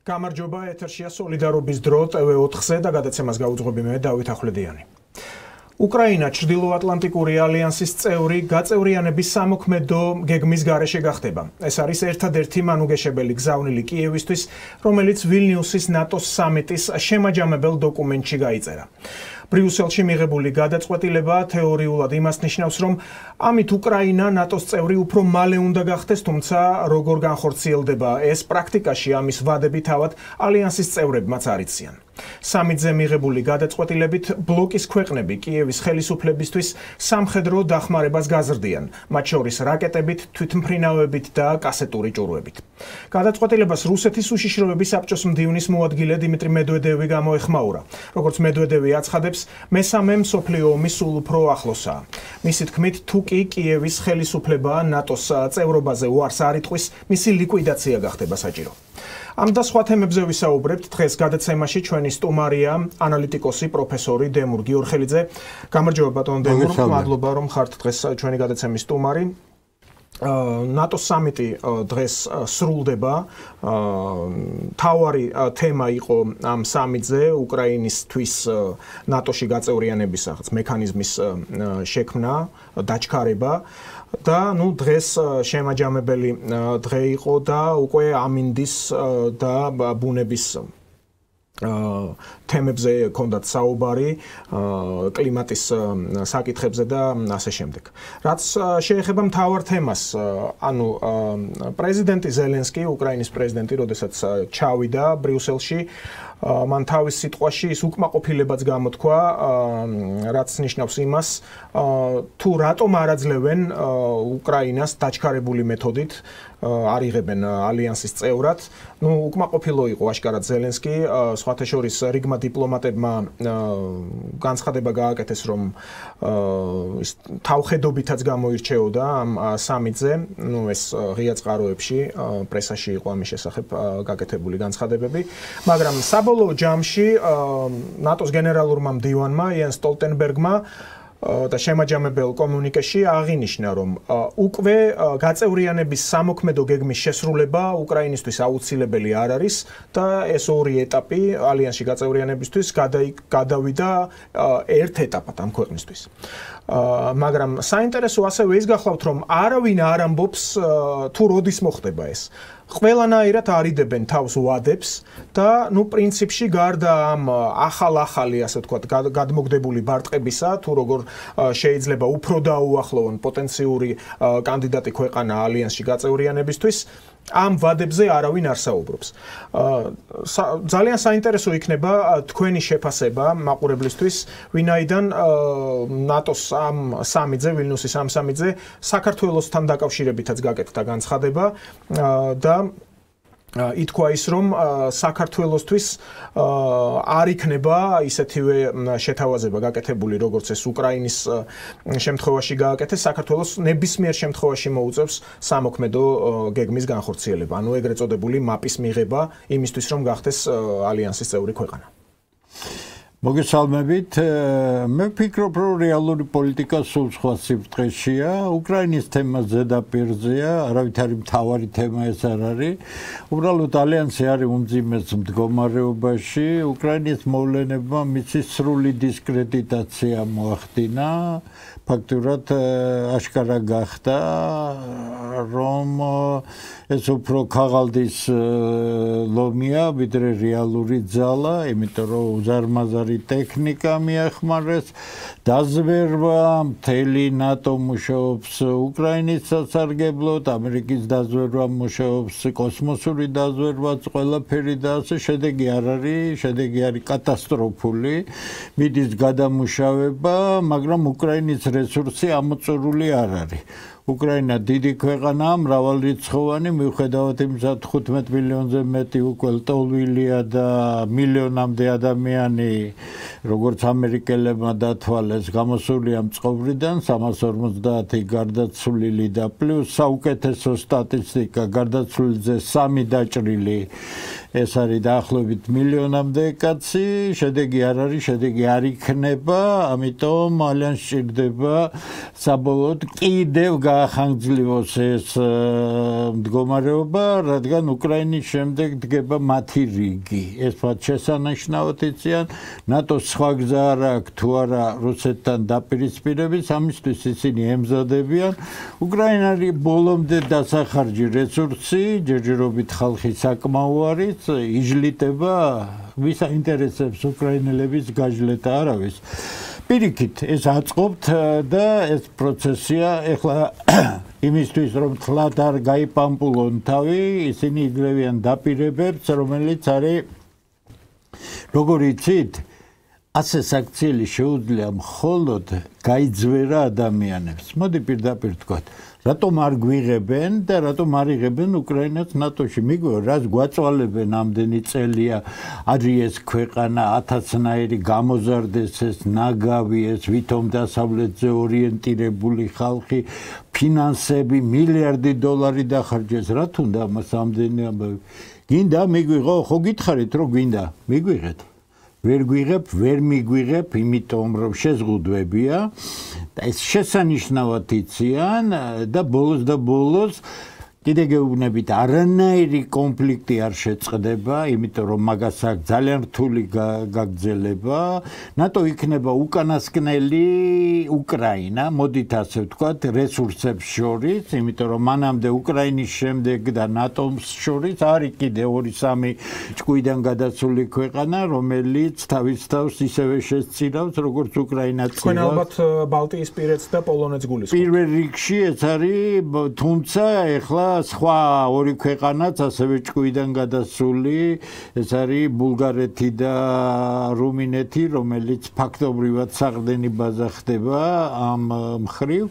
გამარჯობა, ეთერშია სოლიდარობის დრო TV4-ზე და გადაცემას გაუძღვები მე დავით ახვლედიანი. უკრაინა ჩრდილოატლანტიკური ალიანსის წევრი გაწევრიანების სამოქმედო გეგმის გარეშე გახდება. ეს არის ერთადერთი მანუგეშებელი გზავნილი კიევისთვის, რომელიც ვილნიუსის ნატოს სამიტის შემაჯამებელ დოკუმენტში გაიწერა. ბრიუსელში მიღებული გადაწყვეტილება თეორიულად იმას ნიშნავს, რომ ამით უკრაინა ნატოს წევრი უფრო მალე უნდა გახდეს, თუმცა როგორ განხორციელდება ეს პრაქტიკაში, ამის ვადები თავად ალიანსის წევრებმაც არ იციან. სამიტზე მიღებული გადაწყვეტილებით ბლოკის ქვეყნები კიევის ხელისუფლებისთვის სამხედრო დახმარებას გაზრდიან, მათ შორის რაკეტებით, თვითმფრინავებით და კასეტური ჭურვებით. გადაწყვეტილებას რუსეთის უშიშროების საბჭოს მდივნის მოადგილე დიმიტრი მედვედევი გამოეხმაურა. როგორც მედვედევი აცხადებს, მესამე მსოფლიო ომი სულ უფრო ახლოსაა. მისი თქმით, თუ კი კიევის ხელისუფლება ნატოს წევრობაზე უარს არ იტყვის, მისი ლიკვიდაცია გახდება საჭირო. ამ და სხვა თემებზე ვისაუბრებთ დღეს გადაცემაში ჩვენი სტუმარია ანალიტიკოსი პროფესორი დემურ გიორხელიძე. გამარჯობა ბატონო დემურ, მადლობა რომ ხართ დღეს ჩვენი გადაცემის სტუმარი. ნატოს სამიტი დღეს სრულდება. თავარი თემა იყო ამ სამიტზე უკრაინისთვის ნატოში გაწევრიანების მექანიზმის შექმნა, დაჩქარება. და დღეს შემაჯამებელი დღე იყო და უკვე ამინდის და ბუნების თემებზე ჰქონდათ საუბარი, კლიმატის საკითხებზე და ასე შემდეგ. რაც შეეხება მთავარ თემას, პრეზიდენტი ზელენსკი, უკრაინის პრეზიდენტი, როდესაც ჩავიდა ბრიუსელში, მან თავის სიტყვაში ის უკმაყოფილებაც გამოთქვა, რაც ნიშნავს იმას, თუ რატომ არ აძლევენ უკრაინას დაჩქარებული მეთოდით არ იღებენ ალიანსის წევრად. უკმაყოფილო იყო აშკარად ზელენსკი, სხვათა შორის რიგმა დიპლომატებმა განცხადება გააკეთეს, რომ თავხედობითაც გამოირჩეოდა ამ სამიტზე, ეს ღია წყაროებში, პრესაში იყო ამის შესახებ გაკეთებული განცხადებები, მაგრამ საბოლოო ჯამში ნატოს გენერალურმა მდივანმა იენს სტოლტენბერგმა და შემაჯამებელ კომუნიკეში აღინიშნა, რომ უკვე გაწევრიანების სამოქმედო გეგმის შესრულება უკრაინისთვის აუცილებელი არ არის და ეს ორი ეტაპი ალიანსში გაწევრიანებისთვის გადავიდა ერთ ეტაპად ამ ქვეყნისთვის. მაგრამ საინტერესო ასევე ის გახლავთ, რომ არავინ არ ამბობს თუ როდის მოხდება ეს. ყველანაირად არიდებენ თავს ვადებს და პრინციპში გარდა ამ ახალი, ასე ვთქვათ, გადმოგდებული ბარტყებისა, თუ როგორ შეიძლება უფრო დაუახლოვონ პოტენციური კანდიდატი ქვეყანა ალიანსში გაწევრიანებისთვის, ამ ვადებზე არავინ არ საუბრობს. ძალიან საინტერესო იქნება თქვენი შეფასება მაყურებლისთვის, ვინაიდან ნატოს ამ სამიტზე, ვილნიუსის ამ სამიტზე საქართველოსთან დაკავშირებითაც გაკეთდა განცხადება და ითქვა ის, რომ საქართველოსთვის არ იქნება ისეთივე შეთავაზება გაკეთებული, როგორც ეს უკრაინის შემთხვევაში გააკეთეს, საქართველოს ნებისმიერ შემთხვევაში მოუწევს სამოქმედო გეგმის განხორციელება, ეგრეთ წოდებული მაპის მიღება იმისთვის, რომ გახდეს ალიანსის წევრი ქვეყანა. მოგესალმებით, მე ვფიქრობ, რომ რეალური პოლიტიკა სულ სხვა სიბრტყეშია, უკრაინის თემა ზედაპირზეა, არავითარი მთავარი თემა ეს არ არის. უბრალოდ ალიანსი არის უმძიმეს მდგომარეობაში, უკრაინის მოვლენებმა მისი სრული დისკრედიტაცია მოახდინა, ფაქტურად აშკარა გახდა, რომ ეს უფრო ქაღალდის ლომია, ვიდრე რეალური ძალა, იმიტომ რომ უზარმაზარი ტექნიკა მიახმარეს, დაზვერვა, მთელი ნატო მუშაობს უკრაინის სასარგებლოდ, ამერიკის დაზვერვა მუშაობს, კოსმოსური დაზვერვაც, ყველაფერი და ასე შედეგი არ არის, შედეგი არის კატასტროფული, მიდის გადამუშავება, მაგრამ უკრაინის რესურსი ამოწურული არ არის. უკრაინა დიდი ქვეყანაა, მრავალრიცხოვანი, მიუხედავად იმისა, 15 მილიონზე მეტი უკვე ლტოლვილია და მილიონამდე ადამიანი, როგორც ამერიკელებმა დათვალეს, გამოსულია მწყობრიდან, 350 გარდაცვლილი და პლუს საუკეთესო სტატისტიკა, გარდაცვლილიზე 3 დაჭრილი ეს არის დაახლოებით მილიონამდე კაცი, შედეგი არ არის, შედეგი არ იქნება, ამიტომ ძალიან სჭირდება საბოლოოდ კიდევ გაახანგრძლივოს ეს მდგომარეობა, რადგან უკრაინის შემდეგ დგება მათი რიგი. ეს მათ შესანიშნავად იციან, ნატოს სხვა გზა არ აქვს თუ არა რუსეთთან დაპირისპირების, ამისთვის ისინი ემზადებიან. უკრაინა არის ბოლომდე დასახარჯი რესურსი, ჯერჯერობით ხალხი საკმაო არის, ижლიტება, ვის აინტერესებს უკრაინელების გაჟლეტა არავის. პირიქით, ეს აწყობთ და ეს პროცესია ეხლა იმისთვის რომ თლად არ გაიპამპულონ თავი, ისინი იძლევიან დაპირებებს, რომელიც არის როგორ იცით, ასე საქციელი შეუძლია მხოლოდ გაიძვერა ადამიანებს. მოდი პირდაპირ ვთქვათ, რატომ არ გვიღებენ და რატომ არ იღებენ უკრაინას ნატოში? მიგვიყვება, რას გვაწვალებენ ამდენი წელია, არის ეს ქვეყანა ათასნაირი გამოზარდეს ეს ნაგავი, ეს ვითომ დასავლეთზე ორიენტირებული ხალხი, ფინანსები, მილიარდი დოლარი დახარჯეს. რა თუნდა ამას ამდენი ამბავი? გინდა მიგვიღო, ხო გითხარით რომ გვინდა, მიგვიღეთ. ვერ გვიღებ, ვერ მიგვიღებ, იმიტომ რომ შეზღუდვებია და ეს შესანიშნავად იციან და ბოლოს კიდე გეუბნებით, არანაირი კონფლიქტი არ შეწყდება, იმიტომ რომ მაგას აქვს ძალიან რთული გაგრძელება. ნატო იქნება უკანასკნელი უკრაინა, მოდით ასე ვთქვათ, რესურსებს შორის, იმიტომ რომ მანამდე უკრაინის შემდეგ და ნატოს შორის არის კიდე 2-3 ჭკუიდან გადასული ქვეყანა, რომელიც თავის თავს ისევე შესწირავს, როგორც უკრაინაც. თქვენ ალბათ ბალტიისპირეთს და პოლონეთს გულისხმობთ. პირველ რიგში ეს არის, თუმცა ეხლა სხვა ორი ქვეყანაც ასევე ჭკუიდან გადასული, ეს არის ბულგარეთი და რუმინეთი, რომელიც ფაქტობრივად საყრდენი ბაზა ხდება ამ მხრივ.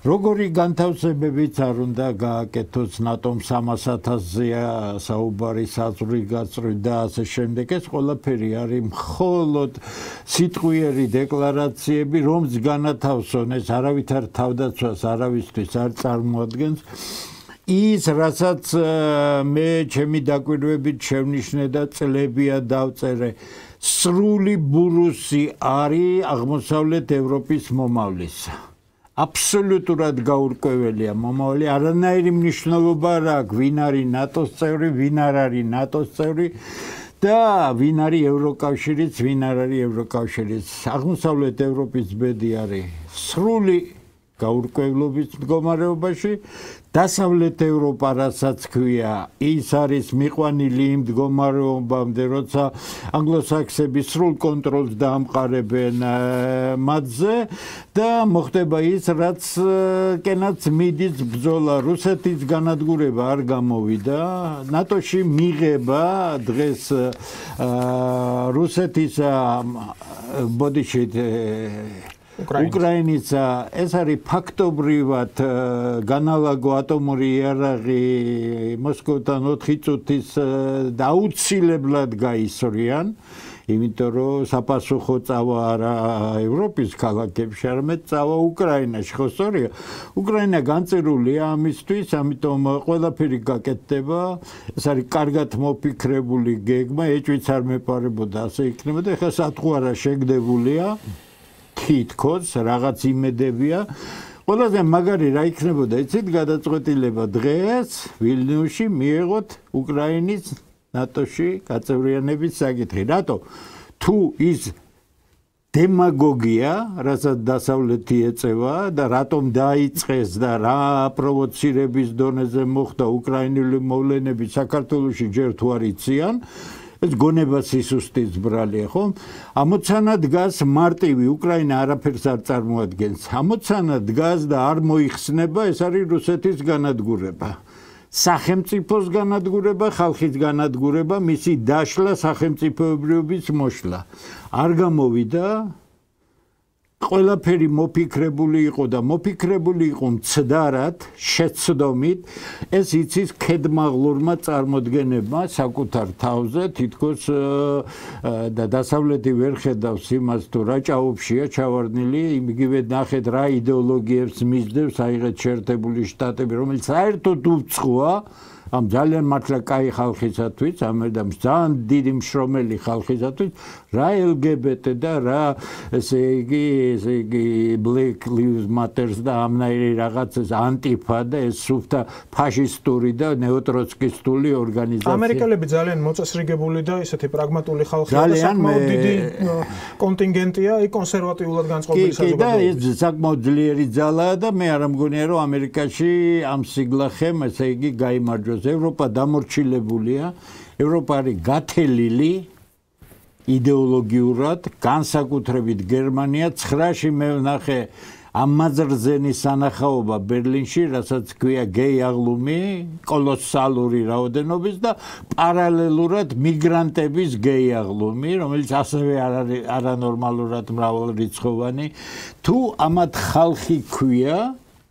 როგორი განთავსებებიც არ უნდა გააკეთოს ნატომ 300,000-ზეა საუბარი საზღვრი და ასე შემდეგ. ეს ყველაფერი არის მხოლოდ სიტყვიერი დეკლარაციები, რომც განათავსონ, ეს არავითარ თავდაცვას არავისთვის არ წარმოადგენს. ის რასაც მე ჩემი დაკვირვებით შევნიშნე და წლებია დავწერე, სრული ბურუსი არის აღმოსავლეთ ევროპის მომავლისა. აბსოლუტურად გაურკვეველია მომავალი, არანაირი მნიშვნელობა არ აქვს, ვინ არის ნატოს წევრი, ვინ არ არის ნატოს წევრი და ვინ არის ევროკავშირიც, ვინ არ არის ევროკავშირიც. აღმოსავლეთ ევროპის ბედი არის სრული გაურკვევლობის მდგომარეობაში. დასავლეთ ევროპა, რასაც ქვია, ის არის მიყვანილი იმ მდგომარეობამდე, როცა ანგლოსაქსები სრულ კონტროლს დაამყარებენ მათზე და მოხდება ის, რაც კენაც მიდის ბრძოლა. რუსეთის განადგურება არ გამოვიდა, ნატოში მიღება დღეს რუსეთის ბოდიშით უკრაინის ეს არის ფაქტობრივად განალაგო ატომური იარაღი მოსკოვთან 4 წუთის და აუცილებლად გაისვრიან, იმიტომ რომ საპასუხო წავა არა ევროპის ქალაქებში, არამედ წავა უკრაინაში. ხო სწორია? უკრაინა განწირულია ამისთვის, ამიტომ ყველაფერი გაკეთდება. ეს არის კარგად მოფიქრებული გეგმა, ეჭვიც არ მეპარებოდა ასე იქნება და ეხლა სათხოვარა შეგდებულია. თითქოს რაღაც იმედებია. ყველაზე მაგარი რა იქნებოდა, იცით, გადაწყვეტილება დღეს ვილნიუსში მიეღოთ უკრაინის ნატოში გაწევრიანების საკითხი. რატო? თუ ის დემაგოგია, რასაც დასავლეთი ეწევა და რატომ დაიწყეს და რა პროვოცირების დონეზე მოხდა უკრაინული მოვლენები საქართველოში ჯერ თუ არ იციან, ეს გონება სისუსტის ბრალია, ხო? ამოცანა დგას მარტივი, უკრაინა არაფერს არ წარმოადგენს. ამოცანა დგას და არ მოიხსნება, ეს არის რუსეთის განადგურება. სახელმწიფოს განადგურება, ხალხის განადგურება, მისი დაშლა, სახელმწიფოებრიობის მოშლა. არ გამოვიდა, ყველაფერი მოფიქრებული იყო და მოფიქრებული იყო მცდარად, შეცდომით, ეს იცის ქედმაღლურმა წარმოდგენებმა საკუთარ თავზე, თითქოს და დასავლეთი ვერ ხედავს იმას, თუ რა ჭაობშია ჩავარდნილი, იგივე ნახეთ რა იდეოლოგიებს მისდევს აიღეთ შეერთებული შტატები, რომელიც საერთოდ უცხოა ამ ძალიან მართლა კაი ხალხისათვის, ამერდამ ძალიან დიდი მშრომელი ხალხისათვის, რა LGBT და რა ესე იგი Black Lives Matter და ამნაირი რაღაცას ანტიფა და ეს სუფთა ფაშისტური და ნეოტროცკისტული ორგანიზაცია. ამერიკელები ძალიან მოწესრიგებული და ისეთი პრაგმატული ხალხია და საკმაოდ დიდი კონტინგენტია, აი კონსერვატიულად განწყობილი საზოგადოება. და ეს საკმაოდ ძლიერი ძალაა და მე არ მგონია რომ ამერიკაში ამ სიგლახემ ესე იგი გაიმარჯვოს. ევროპა დამორჩილებულია, ევროპა არის გათელილი იდეოლოგიურად, განსაკუთრებით გერმანია 9-ში მე ვნახე ამაზრზენის სანახაობა ბერლინში, რასაც ქვია გეი აღლუმი, კოლოსალური რაოდენობის და პარალელურად მიგრანტების გეი აღლუმი, რომელიც ასევე არანორმალურად მრავალრიცხოვანი. თუ ამათ ხალხი ქვია,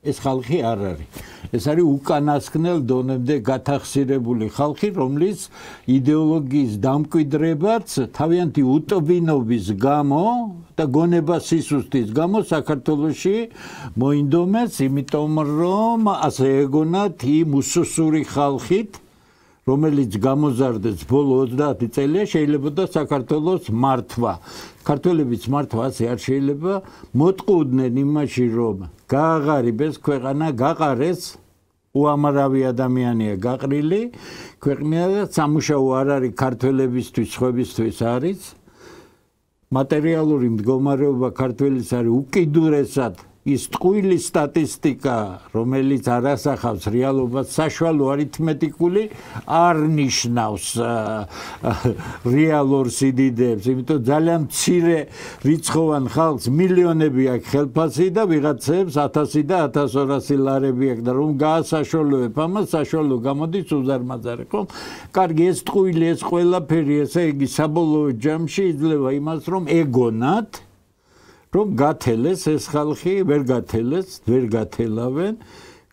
ეს ხალხი არ არის. ეს არის უკანასკნელ დონემდე გათახსირებული ხალხი, რომლის იდეოლოგიის დამკვიდრებაც თავიანთი უტობინობის გამო და გონება სისუსტის გამო საქართველოში მოინდომეს, იმიტომ რომ ასე ეგონათ იმ უსუსური ხალხით, რომელიც გამოზარდეს ბოლო 30 წელია, შეიძლება საქართველოს მართვა. ქართველების მართვა ასე არ შეიძლება, მოტყუდნენ იმაში, რომ გააღარიბეს ქვეყანა, გაყარეს, უამრავი ადამიანია გაყრილი, ქვეყნა და სამუშაო არ არის ქართველებისთვის, სხვებისთვის არის. მატერიალური მდგომარეობა ქართველის არის უკიდურესად ის ტყუილი სტატისტიკა, რომელიც არასახავს რეალობას, საშუალო არითმეტიკული არ ნიშნავს რეალურ სიდიდეებს, იმიტომ ძალიან მცირე რიცხოვან ხალხს მილიონები აქვს ხელფასი და ვიღაცებს 1000 და 1200 ლარები აქვს და რომ გაასაშუალოებ ამას, საშუალო გამოდის უზარმაზარი, ხო? კარგი, ეს ტყუილი, ეს ყველაფერი, ესე იგი საბოლოო ჯამში იძლევა იმას, რომ ეგონათ რომ გათელეს ეს ხალხი, ვერ გათელავენ,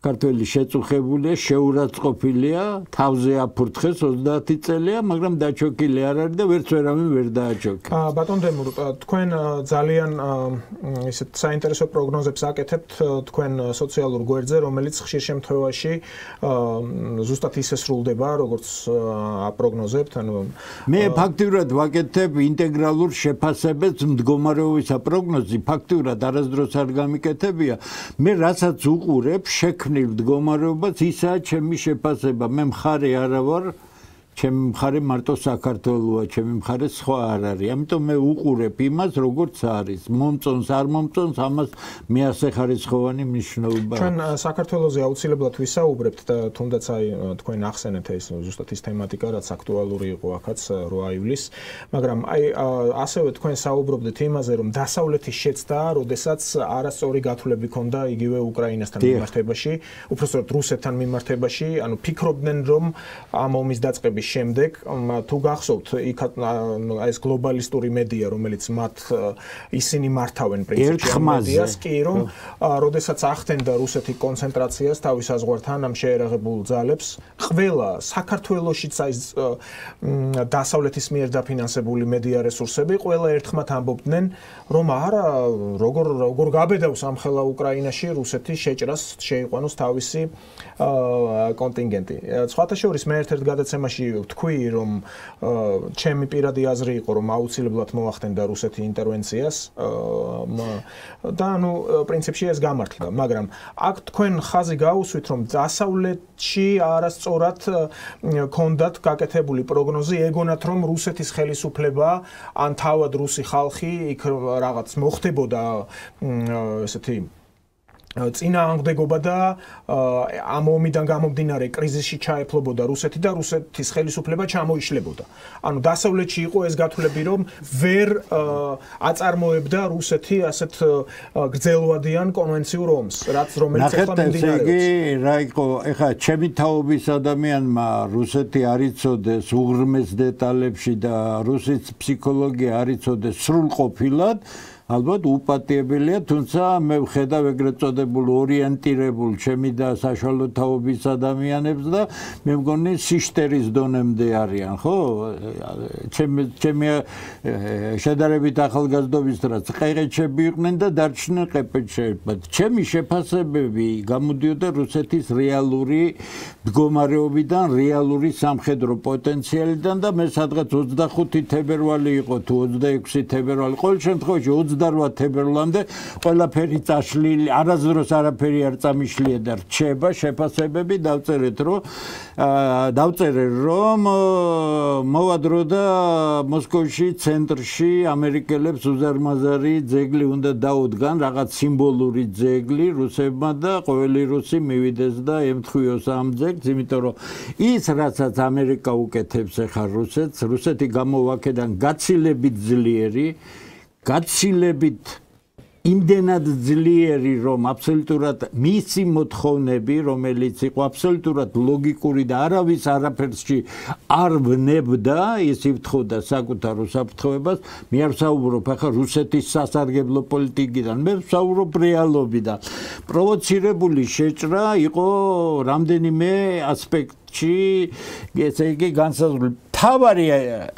ქართველი შეწუხებულია, შეურაცხყოფილია, თავზე აფურთხეს 30 წელია, მაგრამ დაჩოქილი არ არის და ვერც ვერავინ ვერ დააჩოქა. ბატონ დემურ, თქვენ ძალიან ისეთ საინტერესო პროგნოზებს აკეთებთ თქვენ სოციალურ გვერდზე, რომელიც ხშირ შემთხვევაში ზუსტად ისე სრულდება, როგორც აპროგნოზებთ, ანუ მე ფაქტიურად ვაკეთებ ინტეგრალურ შეფასებებს მდგომარეობისა პროგნოზი, ფაქტიურად არასდროს არ გამიკეთებია. მე რასაც უყურებ, შექმნილ მდგომარეობას ისაა ჩემი შეფასება. მე მხარე არა ვარ, ჩემი მხარე მარტო საქართველოა, ჩემი მხარე სხვა არ არის. ამიტომ მე უყურებ იმას, როგორც არის. მომწონს, არ მომწონს, ამას მე ასე ხარისხოვანი მნიშვნელობა. ჩვენ საქართველოზე აუცილებლად ვისაუბრებთ და თუნდაც აი თქვენ ახსენეთ ეს ზუსტად ის თემატიკა, რაც აქტუალური იყო აქაც 8 ივლისს, მაგრამ აი ასევე თქვენ საუბრობდით იმაზე, რომ დასავლეთის შეცდა, როდესაც არასწორი გათვლები ქონდა იგივე უკრაინასთან მიმართებაში, უпростоროდ რუსეთთან მიმართებაში, ანუ ფიქრობდნენ, რომ ამ ომის დაწყების შემდეგ თუ გახსოვთ იქ ეს გლობალისტური მედია, რომელიც მათ ისინი მართავენ პრინციპში მედიას, კი რომ როდესაც ახდენდა რუსეთი კონცენტრაციას თავის საზღვართან ამ შეერაღებულ ძალებს, ყველა საქართველოშიც აი დასავლეთის მიერ დაფინანსებული მედია რესურსები ყველა ერთხმად ამბობდნენ, რომ არა, როგორ გაბედავს ამხელა უკრაინაში რუსეთი შეჭრას შეიყვანოს თავისი კონტინგენტი. სხვათა შორის მე ერთ-ერთ გადაცემაში ვთქვი, რომ ჩემი პირადი აზრი იყო, რომ აუცილებლად მოახდენდა რუსეთი ინტერვენციას და ანუ პრინციპში ეს გამართლდა, მაგრამ აქ თქვენ ხაზი გაუსვით, რომ დასავლეთში არასწორად ქონდათ გაკეთებული პროგნოზი, ეგონათ, რომ რუსეთის ხელისუფლება ან თავად რუსი ხალხი იქ რაღაც მოხდებოდა ესეთი წინააღმდეგობა და ამ ომიდან გამომდინარე კრიზისში ჩაეფლობოდა რუსეთი და რუსეთის ხელისუფლება ჩამოიშლებოდა. ანუ დასავლეთში იყო ეს გათვლები, რომ ვერ აწარმოებდა რუსეთი ასეთ გრძელვადიან კონვენციურ ომს, რომელიც ახლა მიმდინარეობს. რა იყო, ეხლა ჩემი თაობის ადამიანმა რუსეთი არ იცოდეს უღრმეს დეტალებში და რუსეთის ფსიქოლოგია არ იცოდეს სრულყოფილად, ალბათ უპატიებელია, თუმცა მე ვხედავ ეგრეთ წოდებულ ორიენტირებულ ჩემი და საშუალო თაობის ადამიანებს და მე მგონი სიშტერის დონემდე არიან, ხო? ჩემი შედარებით ახალგაზრდობის დროს ყეყეჩები იყვნენ და დარჩნენ ყეყეჩებად. ჩემი შეფასებები გამოდიოდა რუსეთის რეალური მდგომარეობიდან, რეალური სამხედრო პოტენციალიდან და მე სადღაც 25 თებერვალი იყო თუ 26 თებერვალი, ყოველ შემთხვევაში 28 თებერვალამდე ყველაფერი წაშლილი, არასდროს არაფერი არ წამიშლია და რჩება შეფასებები დავწერე რომ მოვა დრო და მოსკოვში ცენტრში ამერიკელებს უზარმაზარი ძეგლი უნდა დაუდგან, რაღაც სიმბოლური ძეგლი რუსებმა და ყოველი რუსი მივიდეს და ემთხვიოს ამ ძეგლს, იმიტომ რომ ის რასაც ამერიკა უკეთებს ახლა რუსეთს, რუსეთი გამოვაკედან გაცილებით ძლიერი, გაცილებით იმდენად ძლიერი, რომ აბსოლუტურად მისი მოთხოვნები, რომელიც იყო აბსოლუტურად ლოგიკური და არავის არაფერსში არ ვნებდა, ის იფრთხოდა საკუთარ უსაფრთხოებას. მე არ ვსაუბრობ ახლა რუსეთის სასარგებლო პოლიტიკიდან, მე ვსაუბრობ რეალობიდან. პროვოცირებული შეჭრა იყო რამდენიმე ასპექტში, ესე იგი განსაზღვრული. თავარი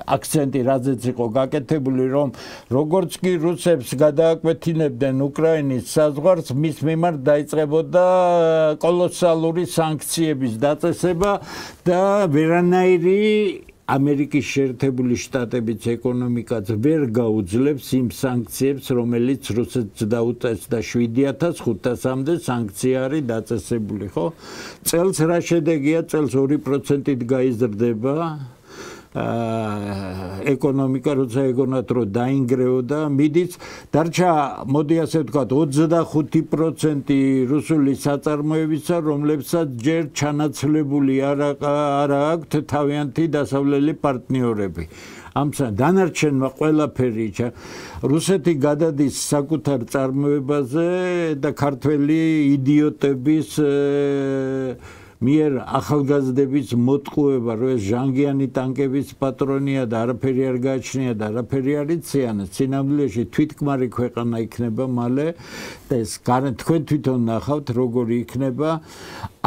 აქცენტი რაზეც იყო გაკეთებული, რომ როგორც კი რუსებს გადააკვეთინებდნენ უკრაინის საზღვარს, მის მიმართ დაიწყებოდა კოლოსალური სანქციების დაწესება და ვერანაირი ამერიკის შეერთებული შტატების ეკონომიკაც ვერ გაუძლებს იმ სანქციებს, რომელიც რუსეთს დაუწესდა 7500-მდე სანქცია არის დაწესებული, ხო? წელს რა შედეგია? წელს 2%-ით გაიზრდება ეკონომიკა, როცა ეგონათ რომ დაინგრეოდა, მიდის დარჩა, მოდი ასე ვთქვათ, 25% რუსული საწარმოებისა, რომლებსაც ჯერ ჩანაცვლებული არ აქვთ თავიანთი დასავლელი პარტნიორები. ამ დანარჩენმა ყველაფერი რუსეთი გადადის საკუთარ წარმოებაზე და ქართველი იდიოტების მიერ ახალგაზრდების მოტყუება, რომ ეს ჟანგიანი ტანკების პატრონია და არაფერი არ გააჩნია და არაფერი არ იციან, სინამდვილეში თვითკმარი ქვეყანა იქნება მალე და ეს თქვენ თვითონ ნახავთ როგორი იქნება.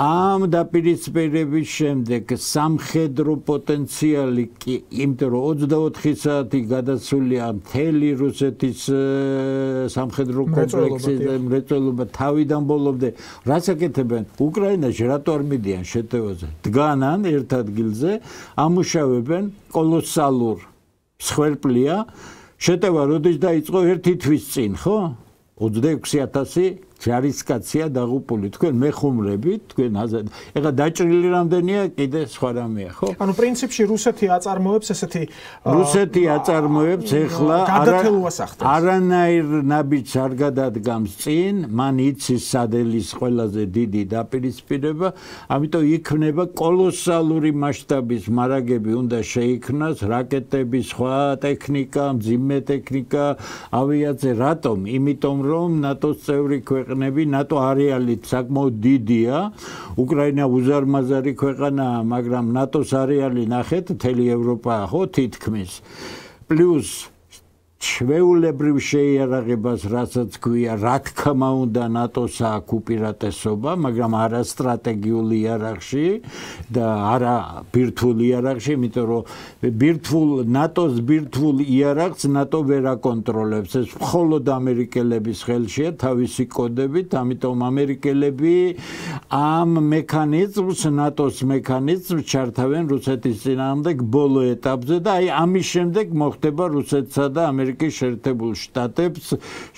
ამ დაპირისპირების შემდეგ სამხედრო პოტენციალი კი, იმიტომ რომ 24 საათი გადასულია მთელი რუსეთის სამხედრო კომპლექსის მრეწველობა თავიდან ბოლომდე. რას აკეთებენ? უკრაინაში რატო არ მიდიან შეტევაზე? დგანან ერთ ადგილზე, ამუშავებენ კოლოსალურ მსხვერპლია. შეტევა როდის დაიწყო? ერთი თვის წინ, ხო? 26,000 ჯარისკაცია დაღუპული. თქვენ მეხუმრებით, თქვენ ეხლა დაჭრილი რამდენია, კიდე სხვა რამეა, ხო? ანუ პრინციპში რუსეთი აწარმოებს ესეთი რუსეთი აწარმოებს ეხლა არანაირ ნაბიჯს არ გადადგამს წინ, მან იცის სადელის ყველაზე დიდი დაპირისპირება, ამიტომ იქნება კოლოსალური მასშტაბის მარაგები უნდა შეიქმნას, რაკეტები, სხვა ტექნიკა, მძიმე ტექნიკა, ავიაცია, რატომ? იმიტომ რომ ნატოს წევრი ნატო არეალით საკმაოდ დიდია, უკრაინა უზარმაზარი ქვეყანაა, მაგრამ ნატოს არეალი ნახეთ, მთელი ევროპაა, ხო, თითქმის. პლუს ჩვეულებრივ შეიარაღებას, რასაც ქვია, რა თქმა უნდა, ნატოს აქვს უპირატესობა, მაგრამ არა სტრატეგიულ იარაღში და არა ბირთვულ იარაღში, იმიტომ რომ ნატოს ბირთვულ იარაღს ნატო ვერ აკონტროლებს. ეს მხოლოდ ამერიკელების ხელშია თავისი კოდებით, ამიტომ ამერიკელები ამ მექანიზმს, ნატოს მექანიზმს ჩართავენ რუსეთის წინააღმდეგ ბოლო ეტაპზე და აი ამის შემდეგ მოხდება რუსეთსა და ამერიკის შეერთებულ შტატებს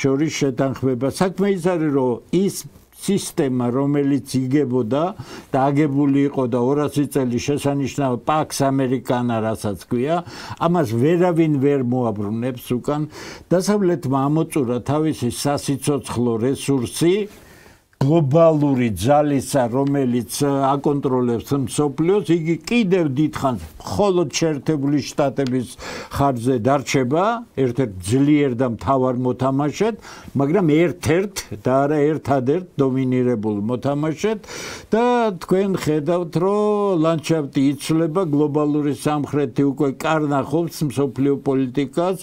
შორის შეთანხმება. საქმე ის არის, რომ ის სისტემა, რომელიც იგებოდა და აგებული იყო და 200 წელი შესანიშნავ პაქს ამერიკანა, რასაც ქვია, ამას ვერავინ ვერ მოაბრუნებს უკან. დასავლეთმა ამოწურა თავისი სასიცოცხლო რესურსი, გლობალური ძალისა, რომელიც აკონტროლებს მსოფლიოს, იგი კიდევ დიდხანს მხოლოდ შეერთებული შტატების ხარჯზე დარჩება, ერთ-ერთ ძლიერ და მთავარ მოთამაშედ, მაგრამ ერთ-ერთ და არა ერთადერთ დომინირებულ მოთამაშედ და თქვენ ხედავთ, რომ ლანდშაფტი იცვლება, გლობალური სამხრეთი უკვე კარნახობს მსოფლიო პოლიტიკას,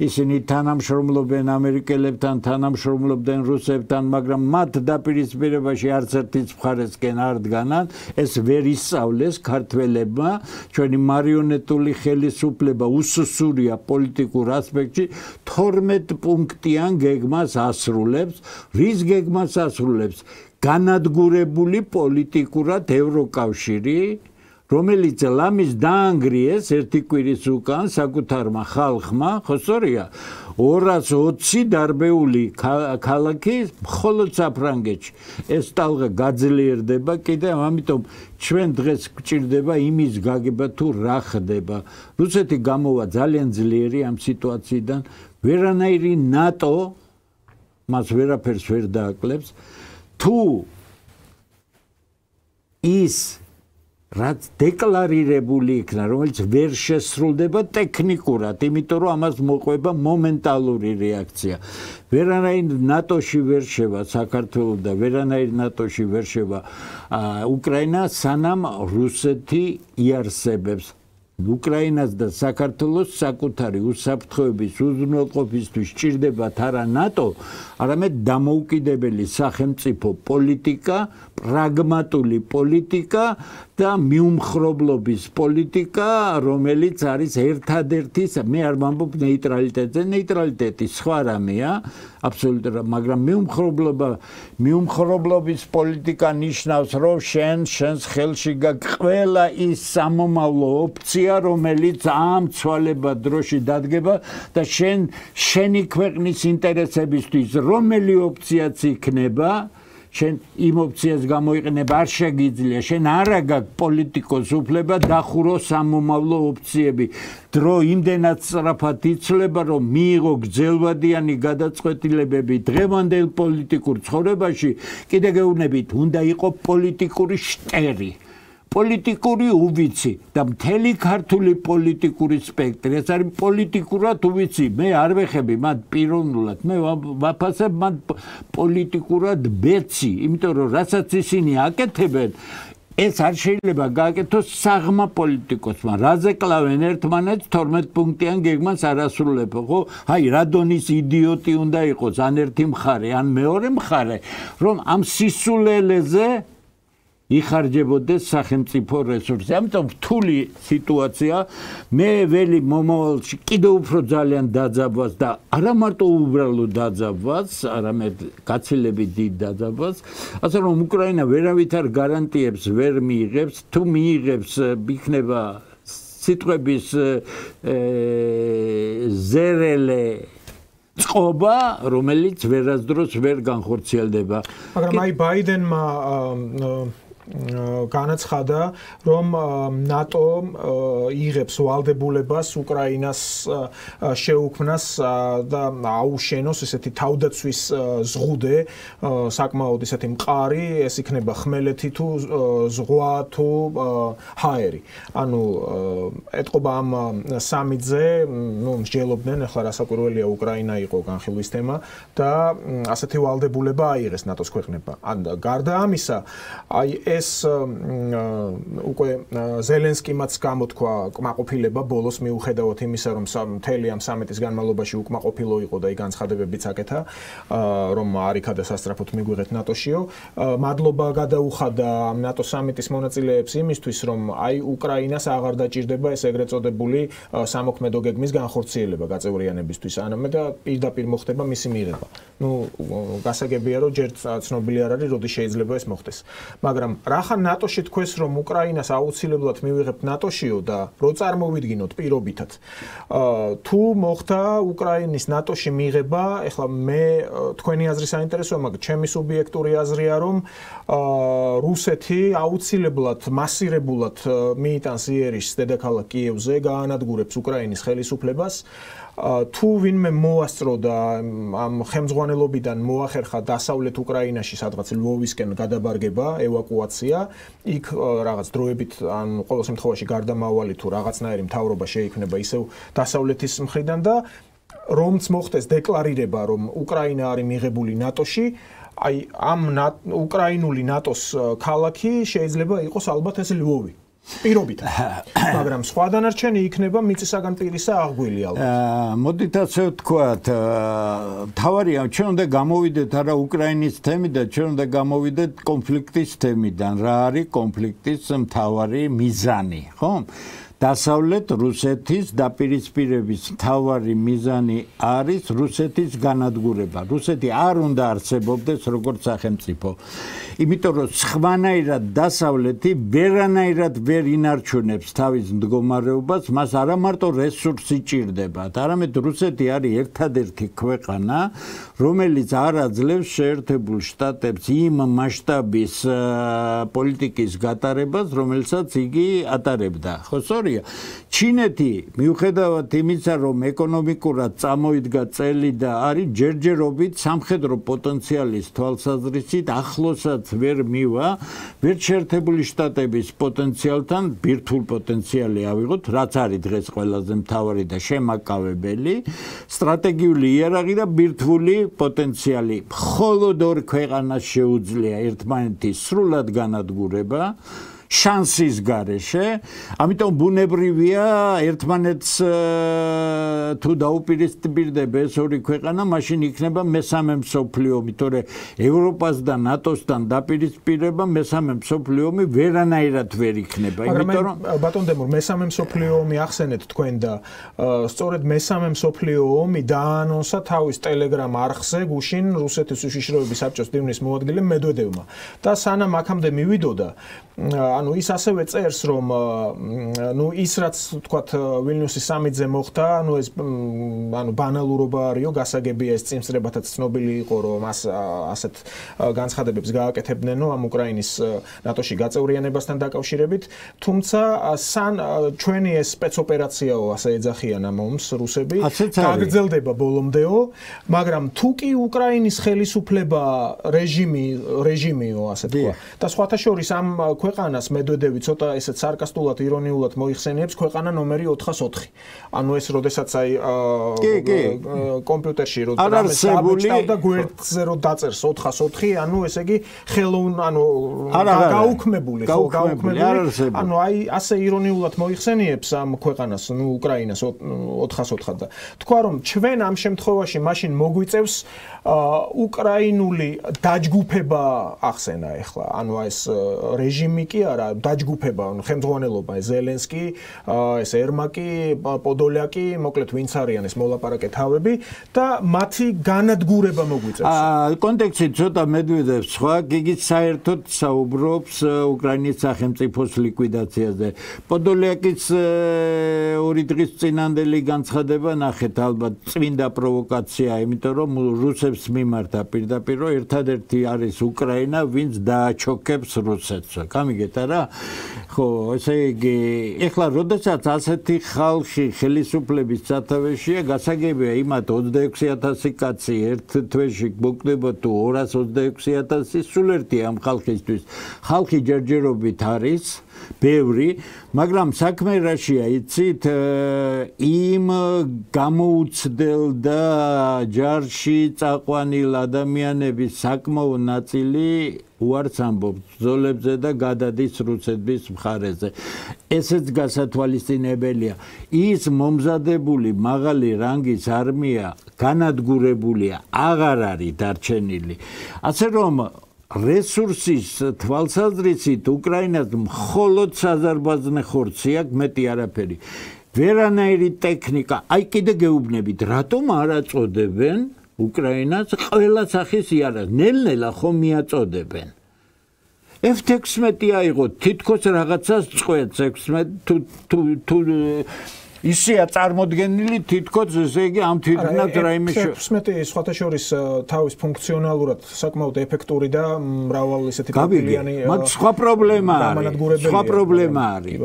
ისინი თანამშრომლობენ ამერიკელებთან, თანამშრომლობენ რუსებთან, მაგრამ მათ დაპირისპირებაში არც ერთის მხარესკენ არ დგანან, ეს ვერ ისწავლეს ქართველებმა, ჩვენი მარიონეტული ხელისუფლება უსუსურია პოლიტიკურ ასპექტში 12 პუნქტიან გეგმას ასრულებს, რის გეგმას ასრულებს? განადგურებული პოლიტიკურად ევროკავშირი, რომელიც ლამის დაანგრიეს ერთი კვირის უკან საკუთარმა ხალხმა, ხო სწორია, 220 დარბეული ქალაქი მხოლოდ საფრანგეთში. ეს ტალღა გაძლიერდება კიდევ, ამიტომ ჩვენ დღეს გვჭირდება იმის გაგება თუ რა ხდება. რუსეთი გამოვა ძალიან ძლიერი ამ სიტუაციიდან, ვერანაირი ნატო მას ვერაფერს ვერ დააკლებს, თუ ის რაც დეკლარირებული იქნა, რომელიც ვერ შესრულდება ტექნიკურად, იმიტომ რომ ამას მოყვება მომენტალური რეაქცია. ვერანაირ ნატოში ვერ შევა საქართველო და ვერანაირ ნატოში ვერ შევა უკრაინა, სანამ რუსეთი იარსებებს. უკრაინას და საქართველოს საკუთარი უსაფრთხოების უზრუნველყოფისთვის სჭირდებათ არა ნატო, არამედ დამოუკიდებელი სახელმწიფო პოლიტიკა, პრაგმატული პოლიტიკა და მიუმხრობლობის პოლიტიკა, რომელიც არის ერთადერთი, მე არ ვამბობ ნეიტრალიტეტზე, ნეიტრალიტეტი სხვა რამეა, აბსოლუტურად, მაგრამ მიუმხრობლობის პოლიტიკა ნიშნავს, რომ შენს ხელში გაქვს ყველა ის სამომავლო ოპცია, რომელიც ამ ცვალებად დროში დადგება და შენი ქვეყნის ინტერესებისთვის რომელი ოპციაც იქნება, შენ იმ ოპციას გამოიყენება არ შეგიძლია, შენ არა გაქვს პოლიტიკოს უფლება დახურო სამომავლო ოპციები. დრო იმდენად სწრაფად იცვლება, რომ მიიღო გრძელვადიანი გადაწყვეტილებები დღევანდელ პოლიტიკურ ცხოვრებაში, კიდე გეუბნებით, უნდა იყო პოლიტიკური შტერი. პოლიტიკური უვიცი და მთელი ქართული პოლიტიკური სპექტრი, ეს არის პოლიტიკურად უვიცი, მე არ ვეხები მათ პიროვნულად, მე ვაფასებ მათ პოლიტიკურად ბეცი, იმიტომ რომ რასაც ისინი აკეთებენ, ეს არ შეიძლება გააკეთოს საღმა პოლიტიკოსმა, რაზე კლავენ ერთმანეთს 12 პუნქტიან გეგმას არ ასრულებენ, ხო? აი, რა დონის იდიოტი უნდა იყოს, ან ერთი მხარე, ან მეორე მხარე, რომ ამ სისულელეზე იხარჯებოდეს სახელმწიფო რესურსი. ამიტომ რთული სიტუაცია, მე ველი მომავალში კიდევ უფრო ძალიან დაძაბვას და არა მარტო უბრალო დაძაბვას, არამედ გაცილებით დიდ დაძაბვას, ასე რომ უკრაინა ვერავითარ გარანტიებს ვერ მიიღებს, თუ მიიღებს, იქნება სიტყვების ზერელე წყობა, რომელიც ვერასდროს ვერ განხორციელდება. მაგრამ აი ბაიდენმა განაცხადა, რომ ნატო იღებს ვალდებულებას უკრაინას შეუქმნას და აუშენოს ესეთი თავდაცვის ზღუდე, საკმაოდ ესეთი მყარი, ეს იქნება ხმელეთი თუ ზღვა თუ ჰაერი. ანუ ეთყობა ამ სამიტზე, მსჯელობდნენ, ახლა რასაკვირველია უკრაინა იყო განხილვის თემა და ასეთი ვალდებულება აიღეს ნატოს ქვეყნებმა. გარდა ამისა, აი ეს უკვე ზელენსკიმაც გამოთქვა კმაყოფილება ბოლოს მიუხედავად იმისა, რომ მთელი ამ სამიტის განმავლობაში უკმაყოფილო იყო და ის განცხადებებიც აკეთა, რომ არ იქადა სასწრაფოდ მიგვიღეთ ნატოშიო. მადლობა გადაუხადა ნატო სამიტის მონაწილეებს იმისთვის, რომ აი უკრაინას აღარ დაჭირდება ეს ეგრეთ წოდებული სამოქმედო გეგმის განხორციელება გაწევრიანებისთვის. ანამე და პირდაპირ მოხდება მისი მიღება. გასაგებია, რომ ჯერ ცნობილი არ არის, როდის შეიძლება ეს მოხდეს. მაგრამ რახან ნატოში თქვეს რომ უკრაინას აუცილებლად მივიღებთ ნატოშიო და რო წარმოვიდგინოთ პირობითად თუ მოხდა უკრაინის ნატოში მიღება ეხლა მე თქვენი აზრი საინტერესოა მაგრამ ჩემი სუბიექტური აზრია რომ რუსეთი აუცილებლად მასირებულად მიიტანს იერიშს დედაქალაქ კიევზე გაანადგურებს უკრაინის ხელისუფლებას თუ ვინმე მოასწრო და ამ ხელმძღვანელობიდან მოახერხა დასავლეთ უკრაინაში სადღაც ლვოვისკენ გადაბარგება, ევაკუაცია, იქ რაღაც დროებით ან ყოველ შემთხვევაში გარდამავალი თუ რაღაცნაირი მთავრობა შეიქმნება ისევ დასავლეთის მხრიდან და რომც მოხდეს დეკლარირება რომ უკრაინა არის მიღებული ნატოში, აი ამ უკრაინული ნატოს ქალაქი შეიძლება იყოს ალბათ ეს ლვოვი. პირობითად. მაგრამ სხვა დანარჩენი იქნება მიწისაგან პირისა აღგვილი ალბათ. მოდით ასე ვთქვათ, თავარია ჩვენ უნდა გამოვიდეთ არა უკრაინის თემიდან, ჩვენ უნდა გამოვიდეთ კონფლიქტის თემიდან. რა არის კონფლიქტის მთავარი მიზანი, ხო? დასავლეთ რუსეთის დაპირისპირების მთავარი მიზანი არის რუსეთის განადგურება. რუსეთი არ უნდა არსებობდეს როგორც სახელმწიფო. იმიტომ რომ სხვანაირად დასავლეთი ვერანაირად ვერ ინარჩუნებს თავის მდგომარეობას, მას არა მარტო რესურსი ჭირდებათ, არამედ რუსეთი არის ერთადერთი ქვეყანა, რომელიც არ აძლევს შეერთებულ შტატებს იმ მასშტაბის პოლიტიკის გატარებას, რომელსაც იგი ატარებდა. ხო, სწორია. ჩინეთი, მიუხედავად იმისა, რომ ეკონომიკურად წამოიდგა წელი და არის ჯერჯერობით სამხედრო პოტენციალის თვალსაზრისით ახლოსაც ვერ მივა, ვერ შეერთებული შტატების პოტენციალთან ბირთვულ პოტენციალი ავიღოთ, რაც არის დღეს ყველაზე მთავარი და შემაკავებელი, სტრატეგიული იარაღი და ბირთვული პოტენციალი. მხოლოდ ორ ქვეყანას შეუძლია ერთმანეთის სრულად განადგურება. შანსის გარეშე, ამიტომ ბუნებრივია ერთმანეთს თუ დაუპირისპირდება ეს ორი ქვეყანა, მაშინ იქნება მესამე მსოფლიო ომი, თორე ევროპას და ნატოსთან დაპირისპირება მესამე მსოფლიო ომი ვერანაირად ვერ იქნება, იმიტომ რომ ბატონ დემურ, მესამე მსოფლიო ომი ახსენეთ თქვენ და სწორედ მესამე მსოფლიო ომი დაანონსა თავის ტელეგრამ არხზე გუშინ რუსეთის უშიშროების საბჭოს დივნის მოადგილემ მედვედევმა და სანამ აქამდე მივიდოდა ანუ ის ასევე წერს რომ ნუ ის რაც თქვათ ვილნიუსის სამიტზე მოხდა, ანუ ეს ანუ ბანალურობა არისო, გასაგებია ეს წინსწრებათაც ცნობილი იყო რომ ასეთ განცხადებებს გააკეთებდნენო ამ უკრაინის ნატოში გაწევრიანებასთან დაკავშირებით, თუმცა ჩვენი ეს სპეცოპერაციაო ასე ეძახიან ამ ომს რუსები, გაგრძელდება ბოლომდეო, მაგრამ თუ კი უკრაინის ხელისუფლება რეჟიმიო ასე თქვა და სხვათა შორის ამ ქვეყანას მედვედევი ცოტა ესეც სარკასტულად ირონიულად მოიხსენიებს ქვეყანა ნომერი 404. ანუ ეს როდესაც აი კომპიუტერში რამეს აბეჭდავდა გვერდზე რო დაწერს 404, ანუ ესე იგი ანუ გაუქმებული, ხო, გაუქმებული. ანუ აი ასე ირონიულად მოიხსენიებს ამ ქვეყანას, ნუ უკრაინას 404 და თქვა რომ ჩვენ ამ შემთხვევაში მაშინ მოგვიწევს უკრაინული დაჯგუფება ახსენა ეხლა, ანუ ეს რეჟიმი კი არა, დაჯგუფება, ანუ ხელმძღვანელობა, ზელენსკი, ეს ერმაკი, პოდოლაკი, მოკლედ ვინც არიან ეს მოლაპარაკე თავები და მათი განადგურება მოგვიწევს. კონტექსტი ცოტა მედვედევს სხვა, იგი საერთოდ საუბრობს უკრაინის სახელმწიფოს ლიკვიდაციაზე. პოდოლაკის ორი დღის წინანდელი განცხადება ნახეთ ალბათ წმინდა პროვოკაცია, იმიტომ რომ რუსებს მიმართა პირდაპირ რომ ერთადერთი არის უკრაინა, ვინც დააჩოქებს რუსეთს. გამიგეთ არა? ხო, ესე იგი, ეხლა როდესაც ასეთი ხალხი ხელისუფლების სათავეშია, გასაგებია იმათ 26,000 კაცი ერთ თვეში მოკვდება თუ 226,000, სულ ერთია ამ ხალხისთვის. ხალხი ჯერჯერობით არის ბევრი, მაგრამ საქმე რაშია, იცით, იმ გამოუცდელ და ჯარში წაყვანილ ადამიანების საკმაო ნაწილი უარს ამბობს ბრძოლებზე და გადადის რუსეთის მხარეზე. ესეც გასათვალისწინებელია. ის მომზადებული მაღალი რანგის არმია განადგურებულია, აღარ არის დარჩენილი. ასე რომ რესურსის თვალსაზრისით უკრაინას მხოლოდ საზარბაზნე ხორცი აქვს, მეტი არაფერი. ვერანაირი ტექნიკა, აი კიდე გეუბნებით, რატომ არ აწოდებენ უკრაინას ყველა სახის იარაღს, ნელ-ნელა ხომ მიაწოდებენ. F16 აიღო თითქოს რაღაცას წყვეტს 16 თუ ისეა წარმოდგენილი თითქოს ესე იგი ამ თვითონაც რაიმე F16 სხვათა შორის თავის ფუნქციონალურად საკმაოდ ეფექტური და მრავალ ისეთი პრობლემიანი მაგრამ სხვა პრობლემა არის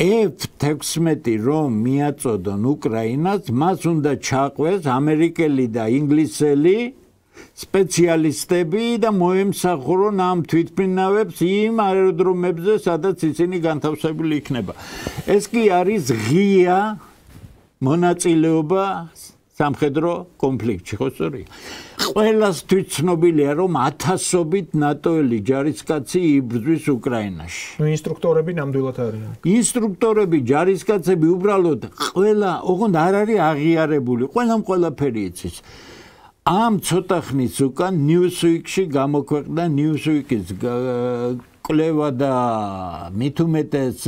F16 რომ მიაწოდონ უკრაინას მას უნდა ჩაყვეს ამერიკელი და ინგლისელი სპეციალისტები და მოემსახურონ ამ თვითმფრინავებს იმ აეროდრომებზე, სადაც ისინი განთავსებული იქნება. ეს კი არის ღია მონაწილეობა სამხედრო კონფლიქტში, ხო სწორია? ყველას თვითცნობილია, რომ ათასობით ნატოელი ჯარისკაცი იბრძვის უკრაინაში. ინსტრუქტორები ნამდვილად არიან. ინსტრუქტორები, ჯარისკაცები უბრალოდ ყველა, ოღონდ არ არის აღიარებული, ყველაფერი იცის. Am ცოტა ხნის უკან Newsweek-ში გამოქვეყნდა Newsweek-ის კვლევა და მით უმეტეს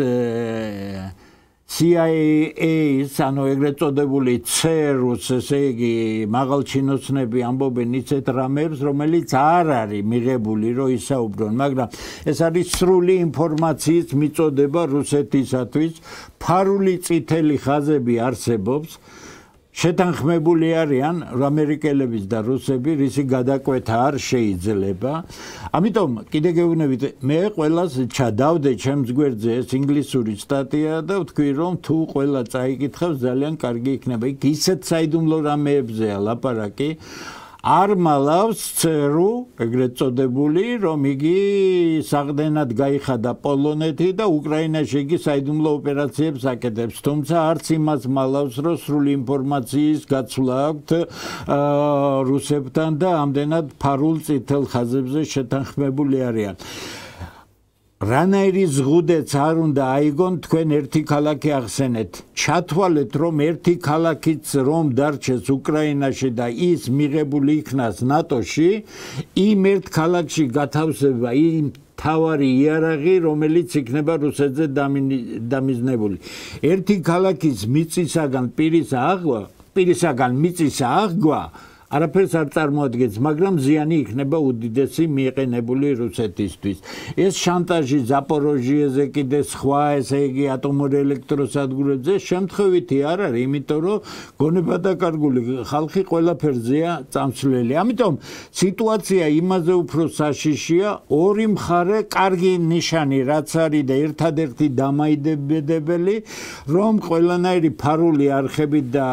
CIA-ის, ანუ ეგრეთ წოდებული CERUS, ესე იგი მაღალჩინოსნები ამბობენ ისეთ რამებს, რომელიც არ არის მიღებული, რომ ისაუბრონ, მაგრამ ეს არის სრული ინფორმაციის მიწოდება რუსეთისათვის, ფარული წითელი ხაზები არსებობს. შეთანხმებული არიან ამერიკელების და რუსები, რისი გადაკვეთა არ შეიძლება. ამიტომ კიდე გეუბნებით, მე ყველას ჩადავდე ჩემს გვერდზე ეს ინგლისური სტატია და ვთქვი, რომ თუ ყველა წაიკითხავს, ძალიან კარგი იქნება. იქ ისეთ საიდუმლო რამეებზეა ლაპარაკი. არ მალავს CERU, ეგრეთ წოდებული, რომ იგი საყდენად გაიხადა პოლონეთი და უკრაინაში იგი საიდუმლო ოპერაციებს აკეთებს. თუმცა არც იმას მალავს, რომ სრული ინფორმაციის გაცვლა აქვთ რუსებთან და ამდენად ფარულ წითელ ხაზებზე შეთანხმებული არიან. რანაირი ზღუდეც არ უნდა აიგონ თქვენ ერთი ქალაქი ახსენეთ. ჩათვალეთ რომ ერთი ქალაქიც რომ დარჩეს უკრაინაში და ის მიღებული იქნას ნატოში, იმ ერთ ქალაქში გათავსება იმ თავარი იარაღი, რომელიც იქნება რუსეთზე დამიზნებული. ერთი ქალაქის მიწისაგან პირისაგან მიწის აღგვა არაფერს არ წარმოადგენს, მაგრამ ზიანი იქნება უდიდესი მიყენებული რუსეთისთვის. ეს შანტაჟი ზაპოროჟიეზე კიდე სხვა, ესე იგი ატომურ ელექტროსადგურებზე შემთხვევითი არ არის, იმიტომ რომ გონება დაკარგული ხალხი ყველაფერზეა წამსვლელი. ამიტომ სიტუაცია იმაზე უფრო საშიშია, ორი მხარე კარგი ნიშანი რაც არის და ერთადერთი დამაიდებელი, რომ ყველანაირი ფარული არხები და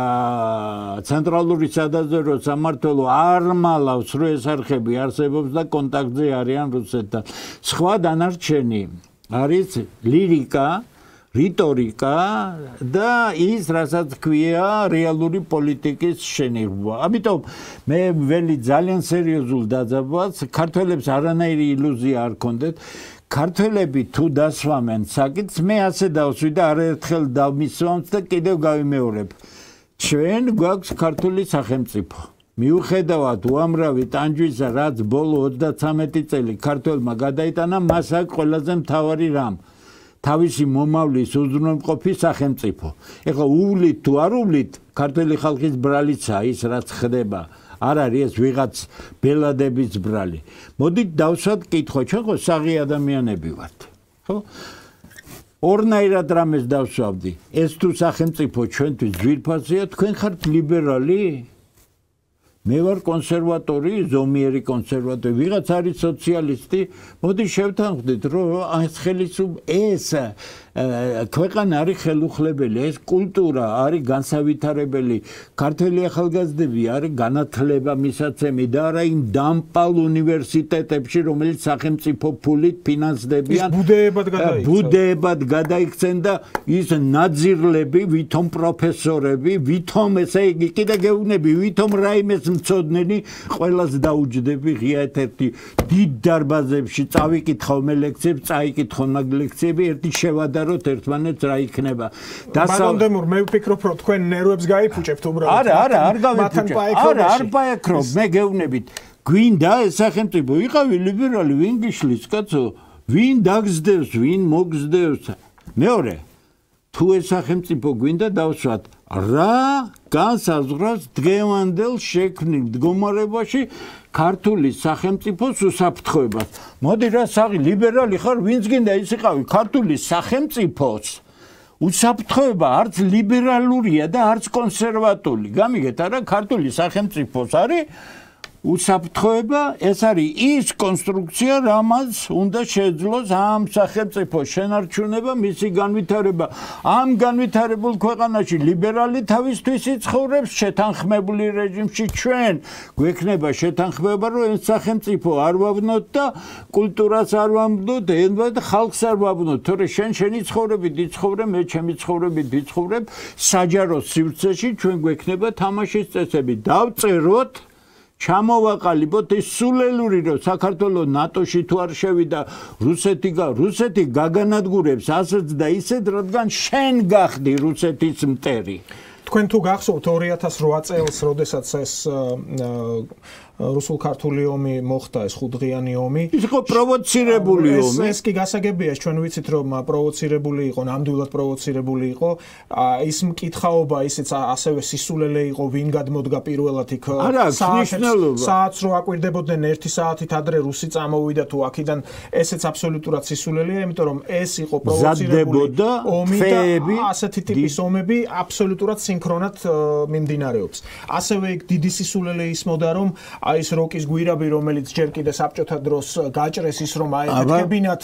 ცენტრალური სადაზვერვო მართლობა არ მალავს, რომ ეს არხები არსებობს და კონტაქტზე არიან რუსეთთან. სხვა დანარჩენი არის ლირიკა, რიტორიკა და ის, რასაც ქვია რეალური პოლიტიკის შენიღვა. ამიტომ მე ველი ძალიან სერიოზულ დაძაბვას, ქართველებს არანაირი ილუზია არ ქონდეთ. ქართველები თუ დასვამენ საკითხს, მე ასე დავსვი და არაერთხელ დავმისვამთ და კიდევ გავიმეორებ. ჩვენ გვაქვს ქართული სახელმწიფო. მიუხედავად უამრავი ტანჯვისა, რაც ბოლო 33 წელი ქართველმა გადაიტანა, მას აქვს ყველაზე მთავარი რამ. თავისი მომავლის უზრუნველყოფი სახელმწიფო. ეხლა უვლით თუ არ უვლით, ქართველი ხალხის ბრალიცა ის რაც ხდება. არ არის ეს ვიღაც ბელადების ბრალი. მოდით დავსვათ კითხვა, ჩვენ ხო საღი ადამიანები ვართ. ხო? ორნაირად რამეს დავსვავდი. ეს თუ სახელმწიფო ჩვენთვის ძვირფასია, თქვენ ხართ ლიბერალი? მე ვარ კონსერვატორი, ზომიერი კონსერვატორი, ვიღაც არის სოციალისტი, მოდი შევთანხმდით, რომ ეს ქვეყანა არის ხელუხლებელი, ეს კულტურა არის განსავითარებელი, ქართველი ახალგაზრდები არის განათლება მისაცემი და არა იმ დამპალ უნივერსიტეტებში, რომელიც სახელმწიფო ფულით ფინანსდებიან, ბუდეებად გადაიქცენ და ის ნაძირლები, ვითომ პროფესორები, ვითომ ესე იგი, კიდე გეუბნები, ვითომ რაიმეს მცოდნენი ყველას დაუჯდები ღია ერთ-ერთი დიდ დარბაზებში წავიკითხავ მე ლექციებს, წაიკითხო მაგ ლექციები, ერთი შევადაროთ ერთმანეთს რა იქნება. ბატონდემურ, მე ვფიქრობ, რომ თქვენ ნერვებს გაიფუჭებთ უბრალოდ. არა, არ გავიფუჭებ. არ პაექრობ, მე გეუბნებით. გვინდა ეს სახელმწიფო, იყავი ლიბერალი, ვინ გიშლის, კაცო? ვინ დაგზდევს, ვინ მოგზდევს? მეორე, თუ ეს სახელმწიფო გვინდა დავსვათ, რა განსაზღვრავს დღევანდელ შექმნილ მდგომარეობაში ქართული სახელმწიფოს უსაფრთხოებას. მოდი რა საღი ლიბერალი ხარ, ვინც გინდა ის იყავი ქართული სახელმწიფოს უსაფრთხოება არც ლიბერალურია და არც კონსერვატული. გამიგეთ არა, ქართული სახელმწიფოს არის უსაფრთხოება, ეს არის ის კონსტრუქცია, რამაც უნდა შეძლოს ამ სახელმწიფოს შენარჩუნება, მისი განვითარება. ამ განვითარებულ ქვეყანაში ლიბერალი თავისთვის იცხოვრებს შეთანხმებული რეჟიმში, ჩვენ გვექნება შეთანხმება, რომ ეს სახელმწიფო არ ვაბნოთ და კულტურას არ ვაბნოთ, ენვა და ხალხს არ ვაბნოთ. თორე შენი ცხოვრებით იცხოვრე, მე ჩემი ცხოვრებით ვიცხოვრებ, საჯარო სივრცეში ჩვენ გვექნება თამაშის წესები. დავწეროთ ჩამოვაყალიბოთ ის სულელური, რომ საქართველოს ნატოში თუ არ შევიდა რუსეთი გაგანადგურებს ასეც და ისეთ, რადგან შენ გახდი რუსეთის მტერი. თქვენ თუ გახსოვთ 2008 წელს, როდესაც ეს რუსულ-ქართული ომი მოხდა, ეს ხუთდღიანი ომი. ის იყო პროვოცირებული ომი. ეს კი გასაგებია, ჩვენ ვიცით, რომ პროვოცირებული იყო, ნამდვილად პროვოცირებული იყო. ის მკითხაობა, ისიც ასევე სისულელე იყო, ვინ გადმოდგა პირველად იქ საათს რო აკვირდებოდნენ 1 საათით ადრე რუსი წამოვიდა თუ აქედან, ესეც აბსოლუტურად სისულელეა, იმიტომ რომ ეს იყო პროვოცირებული ომი და ასეთი ტიპის ომები აბსოლუტურად სინქრონად მიმდინარეობს. ასევე იქ დიდი სისულელე ისმოდა, რომ აი ეს როკის გვირაბი, რომელიც ჯერ კიდე საბჭოთა დროს გაჭრეს ის, რომ აი მეთქებინათ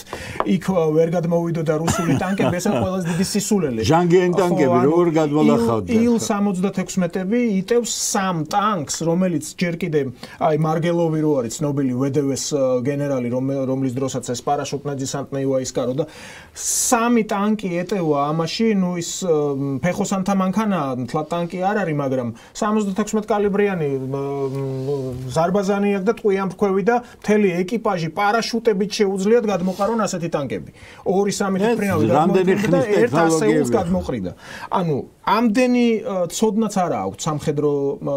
იქ ვერ გადმოვიდოდა რუსული ტანკები, ეს არის ყველაზე დიდი სისულელე. ჟანგიანი ტანკები როგორ გადმოლახავდა? Il-76-ები იტევს 3 ტანკს, რომელიც ჯერ კიდე აი მარგელოვი რო არის ცნობილი VDV-ს გენერალი, რომლის დროსაც ეს პარაშუტნაძე-სანტნეი ვაისკარო და 3 ტანკი ეტევა ამაში, ნუ ის ფეხოსანთა მანქანაა, თლად ტანკი არ არის, მაგრამ 76 კალიბრიანი ზარბაზანი აქვს და ტყვიან ფქვევი და მთელი ეკიპაჟი პარაშუტებით შეუძლიათ გადმოყარონ ასეთი ტანკები. 2-3 თვით გადმოყრიდა და ერთ ასეულს გადმოყრიდა. ანუ ამდენი ცოდნაც არა აქვს სამხედრო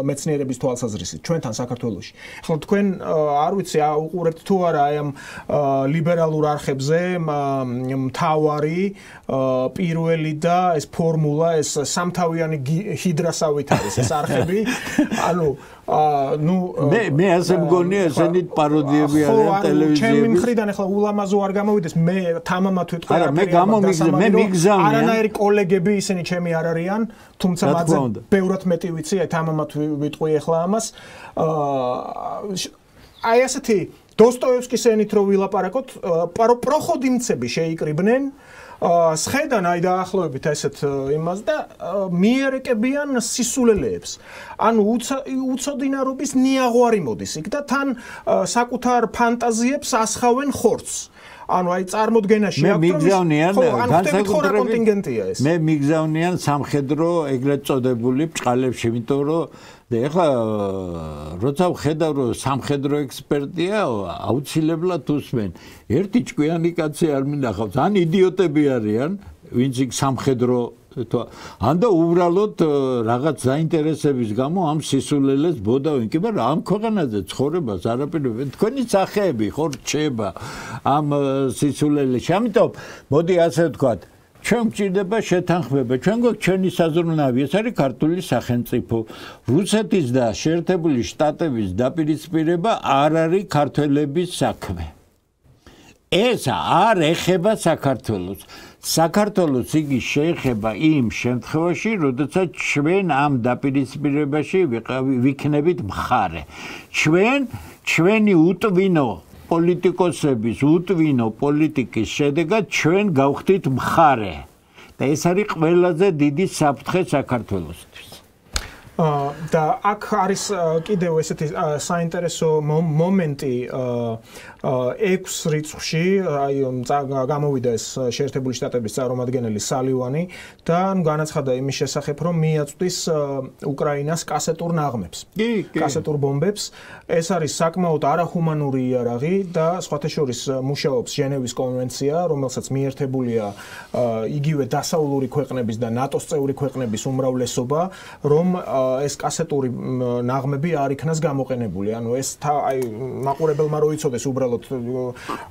მეცნიერების თვალსაზრისით ჩვენთან საქართველოში. ახლა თქვენ არ ვიცი უყურებთ თუ არა აი ამ ლიბერალურ არხებზე მთავარი პირველი და ეს ფორმულა, ეს სამთავიანი ჰიდრასავით არის ეს არხები. ანუ მე ასე მგონია ესენი პაროდიები არიან ტელევიზიებში. ჩემი მხრიდან ახლა ულამაზო არ გამოვიდეს, მე თამამად ვიტყვი. არა, მე მიგზავნია. არანაირი კოლეგები ისინი ჩემი არ არიან, თუმცა მაძე ბევრად მეტი ვიცი, აი თამამად ვიტყვი ახლა ამას. აი ასეთი დოსტოევსკის ენით რო ვილაპარაკოთ, პროხოდიმცები შეიკრიბნენ სხედან აი დაახლოებით ესეთ იმას და მიერეკებიან სისულელეებს. ანუ უცოდინარობის ნიაღვარი მოდის იქ და თან საკუთარ ფანტაზიებს ასხავენ ხორცს. ანუ აი წარმოდგენაში მე მიგზავნიან კონტინგენტია ეს. მე მიგზავნიან სამხედრო ეგრეთ წოდებული ბჭყალებში, იმიტომ რომ ეხლა როცა ვხედავ რომ სამხედრო ექსპერტია, აუცილებლად უსმენ. ერთი ჭკვიანი კაცი არ მინახავს, ან იდიოტები არიან, ვინც იქ სამხედრო ან და უბრალოდ რაღაც საინტერესების გამო ამ სისულელეს ბოდავენ. კი მაგრამ ამ ქვეყანაზე ცხოვრებას არაპირებენ. თქვენი სახეები ხო რჩება ამ სისულელეში. ამიტომ მოდი ასე ვთქვათ, ჩვენ გვჭირდება შეთანხმება. ჩვენ გვაქვს ჩვენი საზრუნავი, ეს არის ქართული სახელმწიფო. რუსეთის და შეერთებული შტატების დაპირისპირება არ არის ქართველების საქმე. ეს არ ეხება საქართველოს. საქართველოს იგი შეეხება იმ შემთხვევაში, როდესაც ჩვენ ამ დაპირისპირებაში ვიქნებით მხარე. ჩვენი უტვინო პოლიტიკოსების უტვინო პოლიტიკის შედეგად ჩვენ გავხდით მხარე. და ეს არის ყველაზე დიდი საფრთხე საქართველოსთვის. და აქ არის კიდევ ესეთი საინტერესო მომენტი 6 რიცხვში, აი გამოვიდა ეს შეერთებული შტატების წარმომადგენელი სალივანი და განაცხადა იმის შესახებ, რომ მიაწვდის უკრაინას კასეტურ ნაღმებს, კასეტურ ბომბებს. ეს არის საკმაოდ არაჰუმანური იარაღი და სხვათა შორის მუშაობს ჟენევის კონვენცია, რომელსაც მიერთებულია იგივე დასავლური ქვეყნების და ნატოს წევრი ქვეყნების უმრავლესობა, რომ ეს კასეტური ნაღმები არ იქნას გამოყენებული. ანუ ეს აი მაყურებელმა რო იცოდეს უბრალოდ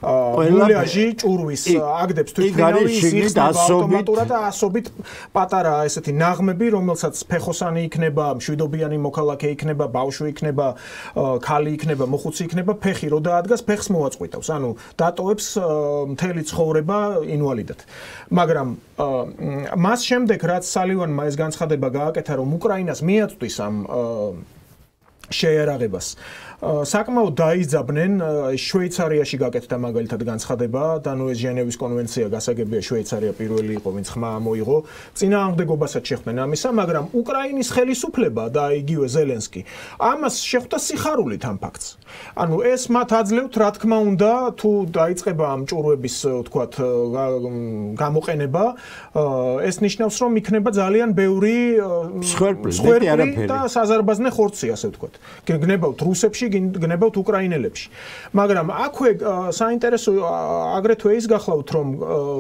მულიაჟი ჭურვის აგდებს თვითმფრინავი იხსნება ავტომატურად და ასობით პატარა ესეთი ნაღმები, რომელსაც ფეხოსანი იქნება, მშვიდობიანი მოქალაქე იქნება, ბავშვი იქნება, ქალი იქნება, მოხუცი იქნება, ფეხი რო დაადგას, ფეხს მოაწყვიტავს. ანუ დატოვებს მთელი ცხოვრება ინვალიდად. მაგრამ მას შემდეგ რაც სალივანმა ეს განცხადება გააკეთა, რომ უკრაინას მიაწვდის ამ შეიარაღებას, საკმაოდ დაიძაბნენ შვეიცარიაში გაკეთდა მაგალითად განცხადება და ნუ ეს ჟენევის კონვენცია გასაგებია შვეიცარია პირველი იყო ვინც ხმა მოიღო წინააღმდეგობასაც შეხვდნენ ამისა მაგრამ უკრაინის ხელისუფლება და იგივე ზელენსკი ამას შეხვდა სიხარულით ამ ფაქტს ანუ ეს მათ აძლევთ რა თქმა უნდა თუ დაიწყება ამ ჭურვების ვთქვათ გამოყენება ეს ნიშნავს რომ იქნება ძალიან ბევრი მსხვერპლი და საზარბაზნე ხორცი ასე ვთქვათ გნებავთ რუსებში გნებავთ უკრაინელებში მაგრამ აქვე საინტერესო აგრეთვე ის გახლავთ რომ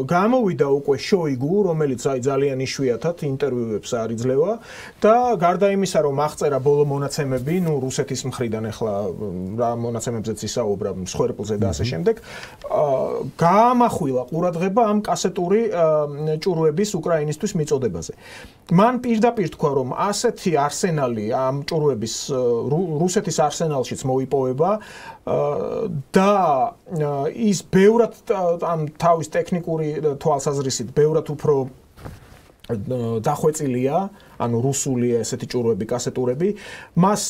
გამოვიდა უკვე შოიგუ რომელიც აი ძალიან იშვიათად ინტერვიუებს არიძლევა და გარდა იმისა რომ აღწერა ბოლო მონაცემები ნუ რუსეთის მხრიდან ახლა რა მონაცემებზეც ისაუბრა მსხვერპლზე და ასე შემდეგ გაამახვილა ყურადღება ამ კასეტური ჭურვების უკრაინისთვის მიწოდებაზე მან პირდაპირ თქვა რომ ასეთი არსენალი ამ ჭურვების რუსეთის არსენალშიც მოიპოვება და ის ბევრად ამ თავის ტექნიკური თვალსაზრისით ბევრად უფრო დახვეწილია ანუ რუსული ესეთი ჭურვები კასეტურები მას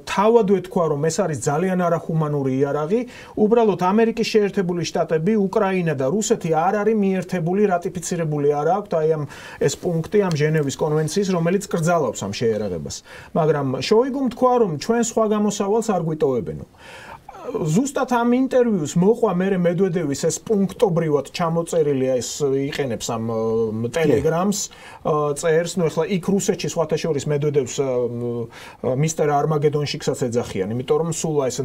თავადვე თქვა რომ ეს არის ძალიან არახუმანური იარაღი უბრალოდ ამერიკის შეერთებული შტატები უკრაინა და რუსეთი არ არის მიერთებული რატიფიცირებული არ აქვს აი ამ ეს პუნქტი ამ ჟენევის კონვენციის რომელიც კრძალავს ამ შეიარაღებას მაგრამ შოიგუმ თქვა რომ ჩვენ სხვა გამოსავალს არ გვიტოვებენო ზუსტად ამ ინტერვიუს მოყვა მერე მედვედევის ეს პუნქტობრივად ჩამოწერილი ეს იყენებს ამ ტელეგრამს წერს ნუ ახლა იქ რუსეთში სხვათა შორის მედვედევს მისტერ არმაგედონშიკსაც ეძახიან იმიტომ რომ სულ ეს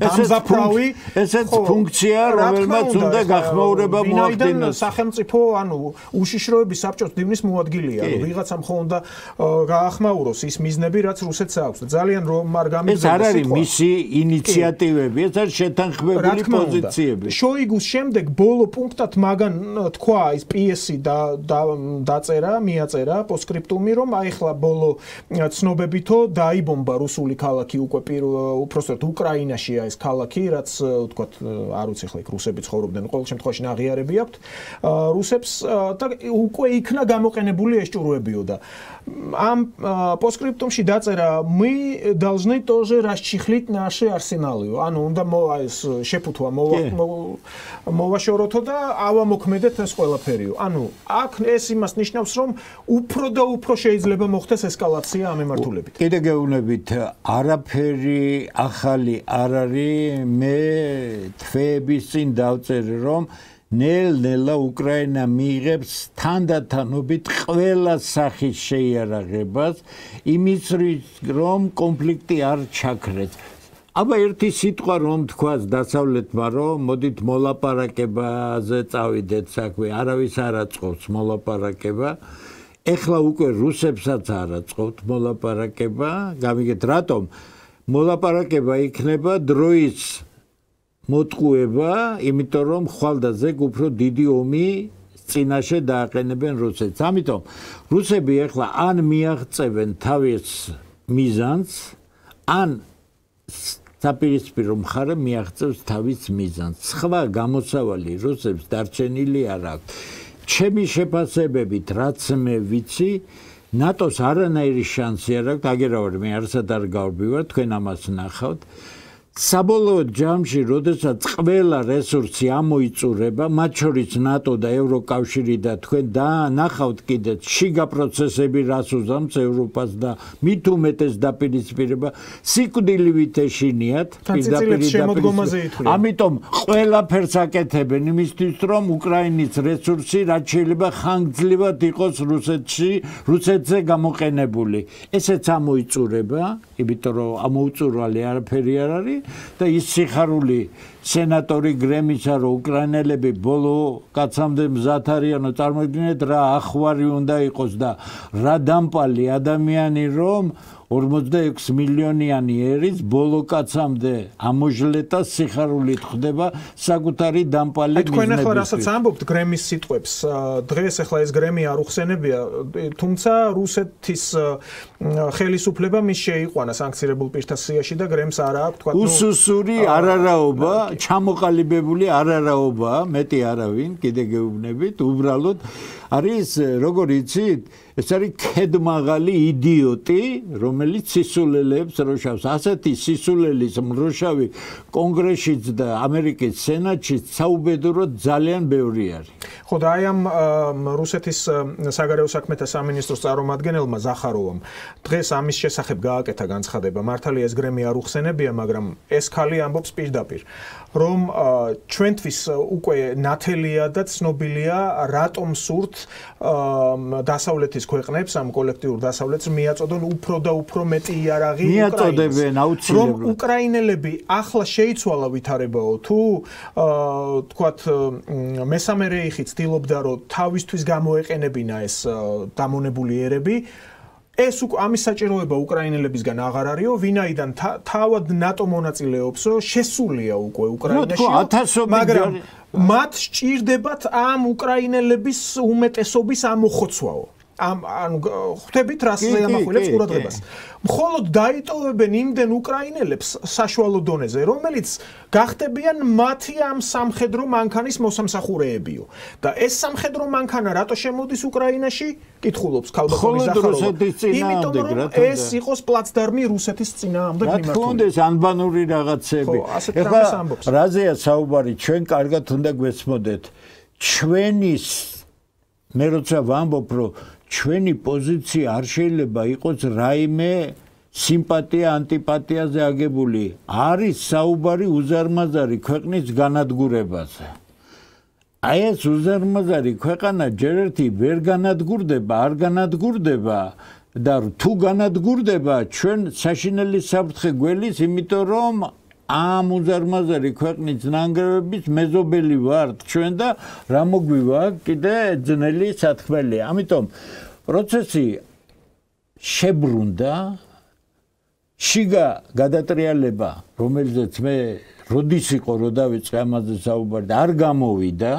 დამზაფრავი ესეც ფუნქცია რომელმაც უნდა გახმაურება მოახდინოს სახელმწიფო ანუ უშიშროების საბჭოს დივნის მოადგილეა ანუ ვიღაცამ ხო უნდა გაახმაუროს ის მიზნები რაც რუსეთს აქვს ძალიან რომ არ გამიგზავნა ეს არ არის მისი ინიციატივები, ეს არის შეთანხმებული პოზიციები. შოიგუს შემდეგ ბოლო პუნქტად მაგან თქვა ის პიესი დაწერა, მიაწერა პოსკრიპტუმი, რომ აი ხლა ბოლო ცნობებითო დაიბომბა რუსული ქალაქი უკვე უпростоრად უკრაინაშია ეს ქალაქი, რაც ვთქვათ, არ ვიცი ხლა იქ რუსები ცხოვრობდნენ, ყოველ შემთხვევაში ნაღიარები აქვთ რუსებს და უკვე იქნა გამოყენებული ეს ჭურვებიო და ამ постскриптумში დაწერა мы должны тоже расчехлить наши арсеналы. ანუ უნდა ეს შეფუთვა მოვაშოროთო და ავამოქმედეთ ეს ყველაფერიო. ანუ აქ ეს იმას ნიშნავს რომ უფრო და უფრო შეიძლება მოხდეს ესკალაცია ამ მიმართულებით. კიდე გეუბნებით არაფერი ახალი არ არის მე თვეების წინ დავწერე რომ ნელ-ნელა უკრაინა მიიღებს თანდათანობით ყველა სახის შეიარაღებას იმის რომ კონფლიქტი არ ჩაქრეს. აბა ერთი სიტყვა რომ თქვას დასავლეთმა რომ მოდით მოლაპარაკებაზე წავიდეთ საქმე არავის არ აწყობს მოლაპარაკება ეხლა უკვე რუსებსაც არ აწყობთ მოლაპარაკება გამიგეთ რატომ მოლაპარაკება იქნება დროის მოტყუება იმიტომ რომ ხვალ და ზეგ უფრო დიდი ომი წინაშე დააყენებენ რუსეთს ამიტომ რუსები ეხლა ან მიაღწევენ თავის მიზანს ან საპირისპირო მხარე მიაღწევს თავის მიზანს სხვა გამოსავალი რუსებს დარჩენილი არ აქვს ჩემი შეფასებებით რაც მე ვიცი ნატოს არანაირი შანსი არ აქვს აგერავარ მე არასად არ გავბივარ თქვენ ამას ნახავთ საბოლოო ჯამში, როდესაც ყველა რესურსი ამოიწურება, მათ შორის ნატო და ევროკავშირი და თქვენ ნახავთ კიდე შიგა პროცესები რას უზამს ევროპას და მით უმეტეს დაპირისპირება, სიკვდილივით ეშინიათ, ამიტომ ყველაფერს აკეთებენ იმისთვის, რომ უკრაინის რესურსი რაც შეიძლება ხანგრძლივად იყოს რუსეთზე გამოყენებული. ესეც ამოიწურება, იმიტომ რომ ამოუწურვალი არაფერი არ არის და ის სიხარული სენატორი გრემისა რომ უკრაინელები ბოლო კაცამდე მზად არიანო წარმოიდგინეთ რა ახვარი უნდა იყოს და რა დამპალი ადამიანი რომ 46 მილიონიანი ერის ბოლო კაცამდე ამოჟლეტა სიხარულით ხდება საკუთარი დამპალი მიზნებისთვის. თქვენ ახლა რასაც ამბობთ გრემის სიტყვებს, დღეს ახლა ეს გრემი არ უხსენებია, თუმცა რუსეთის ხელისუფლება მის შეიყვანა სანქცირებულ პირთა სიაში და გრემს არა აქვს თქვა უსუსური არარაობა, ჩამოყალიბებული არარაობა, მეტი არავინ, კიდე გეუბნებით, უბრალოდ არის როგორ იცით, ეს არის ქედმაღალი იდიოტი, რომელიც სისულელებს როშავს. ასეთი სისულელის მროშავი კონგრესშიც და ამერიკის სენატშიც საუბედუროდ ძალიან ბევრი არის. ხო და აი ამ რუსეთის საგარეო საქმეთა სამინისტროს წარმომადგენელმა ზახაროვამ დღეს ამის შესახებ გააკეთა განცხადება. მართალია ეს გრემი არ უხსენებია, მაგრამ ეს ქალი ამბობს პირდაპირ, რომ ჩვენთვის უკვე ნათელია და ცნობილია, რატომ სურთ დასავლეთის ქვეყნებს, ამ კოლექტიურ დასავლეთს მიაწოდონ უფრო და უფრო მეტი იარაღი მიაწოდებენ აუცილებლად. რომ უკრაინელები ახლა შეიცვალა ვითარებაო თუ თქვათ მესამე რეიხი ცდილობდა რომ თავისთვის გამოეყენებინა ეს დამონებული ერები ეს ამის საჭიროება უკრაინელებისგან აღარ არისო, ვინაიდან თავად ნატო მონაწილეობსო, შესულია უკვე უკრაინაში, მაგრამ მათ სჭირდებათ ამ უკრაინელების უმეტესობის ამოხოცვაო. ანუ ხვდებით რას ამახვილებს ყურადღებას. მხოლოდ დაიტოვებენ იმდენ უკრაინელებს საშუალო დონეზე, რომელიც გახდებიან მათი ამ სამხედრო მანქანის მოსამსახურეებიო. და ეს სამხედრო მანქანა რატო შემოდის უკრაინაში? კითხულობს ქალბატონი ზახაროვა. იმიტომ რომ ეს იყოს პლაცდარმი რუსეთის წინააღმდეგ მიმართული. რა თქმა უნდა, ეს ანბანური რაღაცები. ეხლა რაზეა საუბარი, ჩვენ კარგად უნდა გვესმოდეთ. ჩვენის მე როცა ვამბობ, რომ ჩვენი პოზიცია არ შეიძლება იყოს რაიმე სიმპათია ანტიპათიაზე აგებული. არის საუბარი უზარმაზარი ქვეყნის განადგურებაზე. აი ეს უზარმაზარი ქვეყანა ჯერ ერთი ვერ განადგურდება, არ განადგურდება და თუ განადგურდება, ჩვენ საშინელი საფრთხე გველის, იმიტომ რომ ამ უზარმაზარი ქვეყნის ნანგრევების მეზობელი ვართ ჩვენ და რა მოგვივა კიდე ძნელი სათქმელია. ამიტომ პროცესი შებრუნდა, შიგა გადატრიალება, რომელზეც მე როდის იყო რო დავიწყე ამაზე საუბარი და არ გამოვიდა,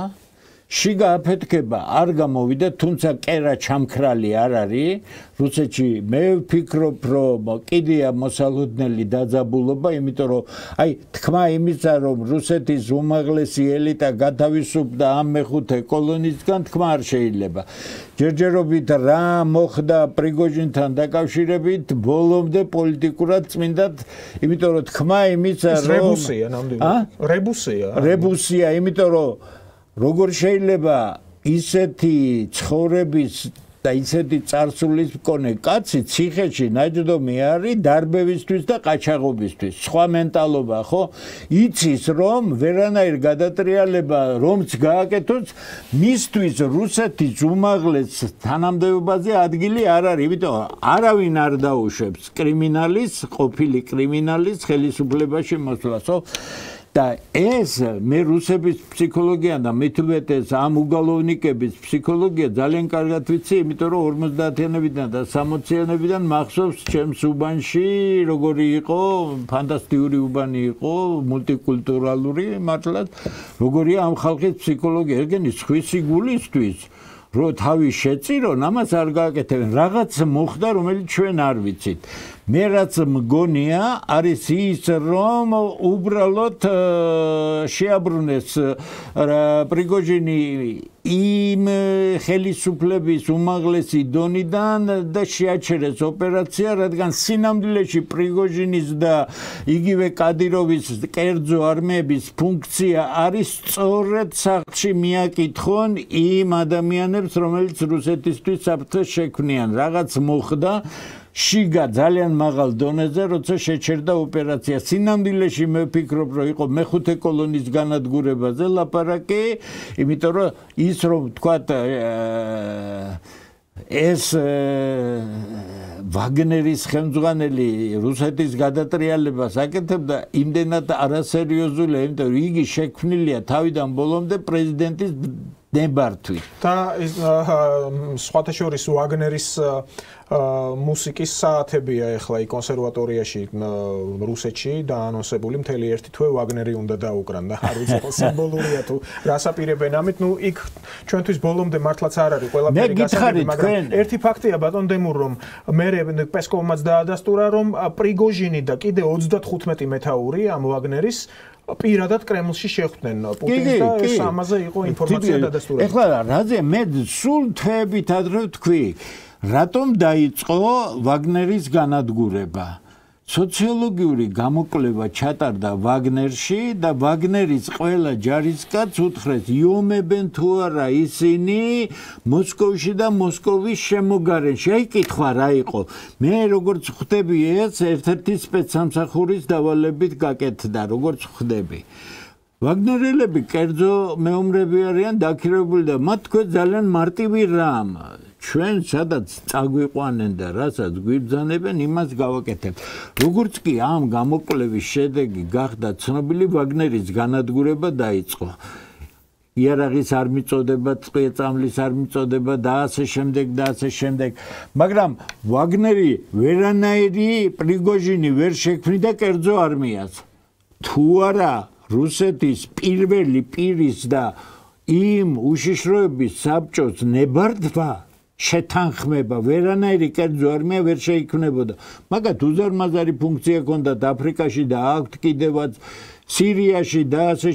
შიგა აფეთქება არ გამოვიდა, თუმცა კერა ჩამქრალი არ არის. რუსეთში მე ვფიქრობ, რომ კიდია მოსალოდნელი დაძაბულობა, იმიტომ რომ აი თქმა იმისა, რომ რუსეთის უმაღლესი ელიტა გათავისუფლდა ამ მეხუთე კოლონიისგან, თქმა არ შეიძლება. ჯერჯერობით რა მოხდა პრიგოჟინთან დაკავშირებით, ბოლომდე პოლიტიკურად წმინდად, იმიტომ რომ თქმა იმისა, რომ რებუსია ნამდვილად. რებუსია, იმიტომ რომ როგორ შეიძლება ისეთი ცხოვრების და ისეთი წარსულის მქონე კაცი ციხეში ნაჯდომი არის დარბევისთვის და ყაჩაღობისთვის. სხვა მენტალობა, ხო? იცის რომ ვერანაირ გადატრიალება რომც გააკეთოს, მისთვის რუსეთის უმაღლეს თანამდებობაზე ადგილი არ არის. იმიტომ არავინ არ დაუშვებს კრიმინალის, ყოფილი კრიმინალის ხელისუფლებაში მოსვლას, ხო? და ეს მე რუსების ფსიქოლოგია და მეთვეთეს ამ უგალოვნიკების ფსიქოლოგია ძალიან კარგად ვიცი, იმიტომ რომ 50-იანებიდან და 60-იანებიდან მახსოვს ჩემს უბანში როგორი იყო, ფანტასტიკური უბანი იყო, მულტიკულტურალური, მართლაც როგორია ამ ხალხის ფსიქოლოგია, ეგენი სხვისი გულისთვის რო თავი შეწირონ, ამას არ გააკეთებენ. რაღაც მოხდა, რომელიც ჩვენ არ ვიცით. მე რაც მგონია, არის ის, რომ უბრალოდ შეაბრუნეს პრიგოჟინი იმ ხელისუფლების უმაღლესი დონიდან და შეაჩერეს ოპერაცია, რადგან სინამდვილეში პრიგოჟინის და იგივე კადიროვის კერძო არმიების ფუნქცია არის სწორედ სახლში მიაკითხონ იმ ადამიანებს, რომელიც რუსეთისთვის საფრთხეს შექმნიან. რაღაც მოხდა შიგა ძალიან მაღალ დონეზე, როცა შეჩერდა ოპერაცია. სინამდვილეში მე ვფიქრობ, რომ იყო მეხუთე კოლონის განადგურებაზე ლაპარაკი, იმიტომ რომ ის რომ თქვათ ეს ვაგნერის ხელმძღვანელი რუსეთის გადატრიალებას აკეთებდა იმდენად არასერიოზულია, იმიტომ რომ იგი შექმნილია თავიდან ბოლომდე პრეზიდენტის ნებართვით. და სხვათა შორის ვაგნერის მუსიკის საათებია ეხლა კონსერვატორიაში რუსეთში დაანონსებული მთელი ერთი თვე ვაგნერი უნდა დაუკრან და არ ვიცი ხო სიმბოლურია თუ რას აპირებენ ამით იქ ჩვენთვის ბოლომდე მართლაც არ არის ყველაფერი გასაგები მაგრამ ერთი ფაქტია ბატონ დემურ რომ მე პესკოვმაც დაადასტურა რომ პრიგოჟინი და კიდე 35 მეთაური ამ ვაგნერის პირადად კრემლში შეხვდნენ პუტინს და ეს ამაზე იყო ინფორმაცია დადასტურებული. ეხლა რაზე მე სულ თვეებით ადრე ვთქვი რატომ დაიწყო ვაგნერის განადგურება? სოციოლოგიური გამოკვლევა ჩატარდა ვაგნერში და ვაგნერის ყველა ჯარისკაც უთხრეს იომებენ თუ არა ისინი მოსკოვში და მოსკოვის შემოგარენში. აი კითხვა რა იყო? მე როგორც ხვდები ეს ერთ-ერთი სპეცსამსახურის დავალებით გაკეთდა, როგორც ხვდები. ვაგნერელები კერძო მეომრები არიან დაქირავებული და მათ თქვენ ძალიან მარტივი რამ ჩვენ სადაც წაგვიყვანენ და რასაც გვიბრძანებენ იმას გავაკეთებთ. როგორც კი ამ გამოკვლევის შედეგი გახდა ცნობილი ვაგნერის განადგურება დაიწყო. იარაღის არ მიწოდება, წამლის არ მიწოდება და ასე შემდეგ. მაგრამ ვაგნერი ვერანაირი პრიგოჟინი ვერ შექმნიდა კერძო არმიას. თუ არა რუსეთის პირველი პირის და იმ უშიშროების საბჭოს ნებართვა შეთანხმება ვერანაირი კერძო არმია ვერ შეიქმნებოდა. მაგათ უზარმაზარი ფუნქცია ჰქონდათ აფრიკაში და აქვთ კიდევაც სირიაში და ასე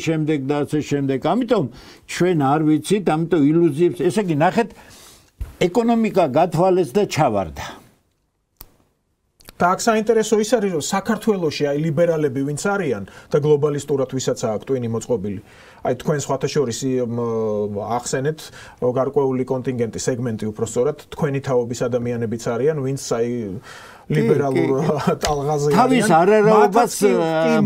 შემდეგ. ამიტომ ჩვენ არ ვიცით, ამიტომ ილუზიებს, ესე იგი ნახეთ ეკონომიკა გათვალეს და ჩავარდა. და აქ საინტერესო ის არის, რომ საქართველოში აი ლიბერალები ვინც არიან და გლობალისტურად ვისაც აქვს ტვინი მოწყობილი. აი თქვენ სხვათა შორის ახსენეთ გარკვეული კონტინგენტი, სეგმენტი უпростоრად თქვენი თაობის ადამიანებიც არიან, ვინც აი ლიბერალურ ტალღაზე არიან. თავის არარაობას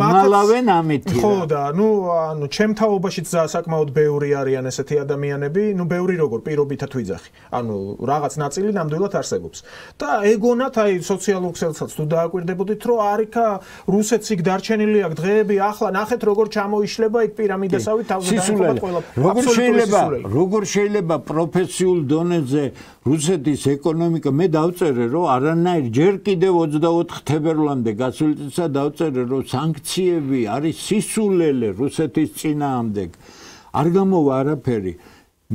მალავენ ამით. ხო და ანუ ჩემ თაობაშიც საკმაოდ ბევრი არიან ესეთი ადამიანები, ბევრი როგორ პირობითად ვიძახი. ანუ რაღაც ნაწილი ნამდვილად არსებობს. და ეგონათ აი სოციალურ ქსელსაც თუ დააკვირდებოდით, რომ არიქა რუსეთს იქ დარჩენილი აქვს დღეები, ახლა ნახეთ როგორ ჩამოიშლება იქ პირამიდასავით თავზე დაიმყოფა ყველა. როგორ შეიძლება პროფესიულ დონეზე რუსეთის ეკონომიკა მე დავწერე რომ არანაირ ჯერ კიდევ 24 თებერვლამდე გასული წელს დავწერე რომ სანქციები არის სისულელე რუსეთის წინააღმდეგ არ გამოვა არაფერი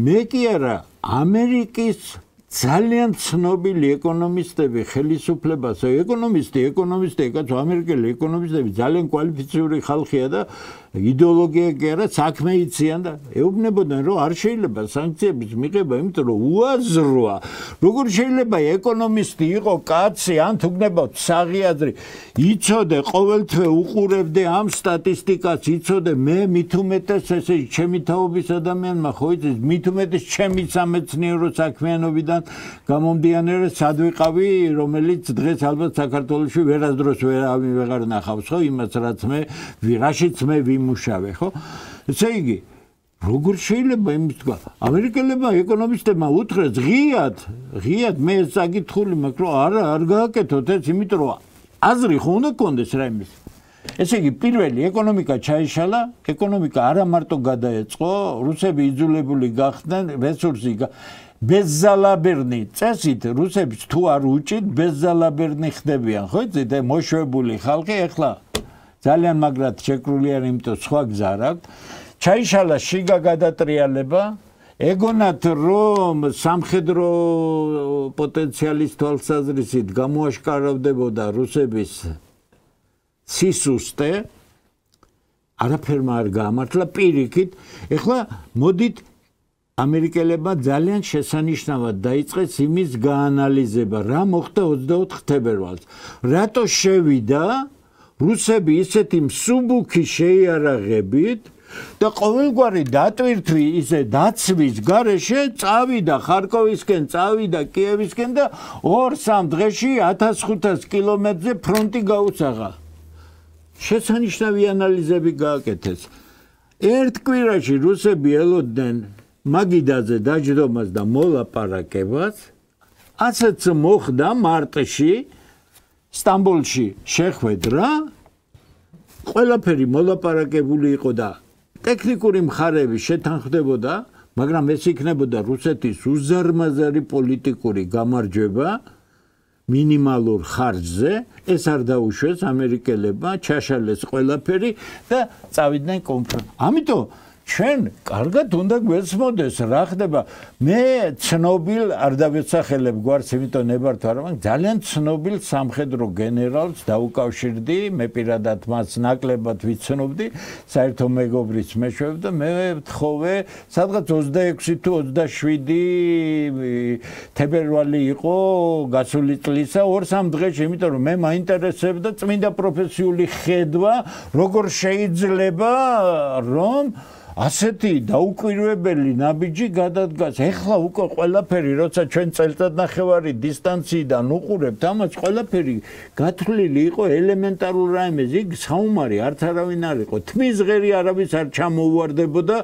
მე კი არა ამერიკის ძალიან ცნობილი ეკონომისტები ხელისუფლებას ეკონომისტი კაც ამერიკელი ეკონომისტები ძალიან კვალიფიციური ხალხია და იდეოლოგია კი არა საქმე იციან და ეუბნებოდნენ რომ არ შეიძლება სანქციების მიღება იმიტომ რომ უაზროა როგორ შეიძლება ეკონომისტი იყო კაცი ან თუ გნებავთ საღიაზრი იცოდე ყოველთვე უყურებდე ამ სტატისტიკას იცოდე მე მით უმეტეს ესე ჩემი თაობის ადამიანმა ხო იცის მით უმეტეს ჩემი სამეცნიერო საქმიანობიდან გამომდიანე სად ვიყავი რომელიც დღეს ალბათ საქართველოში ვერასდროს ვეღარ ნახავს ხო იმას რაც მე რაშიც მე ვიმუშავე ხო ესე იგი როგორ შეიძლება იმის თქვა ამერიკელებმა ეკონომისტებმა უთხრეს ღიად მე საკითხული მაქვს რომ არ გააკეთოთ ეს იმიტომ რომ აზრი ხო უნდა გქონდეს რა იმის ესე იგი პირველი ეკონომიკა ჩაიშალა ეკონომიკა არა მარტო გადაეწყო რუსები იძულებული გახდნენ რესურსი ბეზზალაბერნი წესით რუსებს თუ არ უჭით ბეზზალაბერნი ხდებიან ხო იცით მოშვებული ხალხი ეხლა ძალიან მაგრად შეკრული არ იმიტომ სხვა გზა არ აქვს ჩაიშალა შიგა გადატრიალება ეგონათ რომ სამხედრო პოტენციალის თვალსაზრისით გამოაშკარავდებოდა რუსების სისუსტე არაფერმა არ გაამართლა პირიქით ეხლა მოდით ამერიკელებმა ძალიან შესანიშნავად დაიწყეს იმის გაანალიზება რა მოხდა 24 თებერვალს რატო შევიდა რუსები ისეთი მსუბუქი შეიარაღებით და ყოველგვარი დატვირთვი ისე დაცვის გარეშე წავიდა ხარკოვისკენ წავიდა კიევისკენ და 2-3 დღეში 1500 კილომეტრზე ფრონტი გაუსაღა შესანიშნავი ანალიზები გააკეთეს ერთ კვირაში რუსები ელოდნენ მაგიდაზე დაჯდომას და მოლაპარაკებას ასეც მოხდა მარტში სტამბოლში შეხვედრა ყველაფერი მოლაპარაკებული იყო და ტექნიკური მხარეები შეთანხმდებოდა, მაგრამ ეს იქნებოდა რუსეთის უზარმაზარი პოლიტიკური გამარჯვება მინიმალურ ხარჯზე, ეს არ დაუშვეს ამერიკელებმა, ჩაშალეს ყველაფერი და წავიდნენ კონფრენციაში. ამიტომ ჩვენ კარგად უნდა გვესმოდეს რა ხდება. მე ცნობილ არ დავეცახელებ გვარს, იმიტომ ნებართ არა, მაგრამ ძალიან ცნობილ სამხედრო გენერალს დაუკავშირდი, მე პირადად მას ნაკლებად ვიცნობდი, საერთო მეგობრის მეშვეობ და მე ვთხოვე, სადღაც 26 თუ 27 თებერვალი იყო გასული წლისა 2-3 დღეში, იმიტომ რომ მე მაინტერესებდა წმინდა პროფესიული ხედვა, როგორ შეიძლება რომ ასეთი დაუკვირვებელი ნაბიჯი გადადგას. ეხლა უკვე ყველაფერი, როცა ჩვენ წელწადნახევარი დისტანციიდან უყურებთ, ამას ყველაფერი გათვლილი იყო ელემენტარულ რაიმეზე. იქ საუბარი არც არავინ არ იყო. თმის ღერი არავის არ ჩამოუვარდებოდა,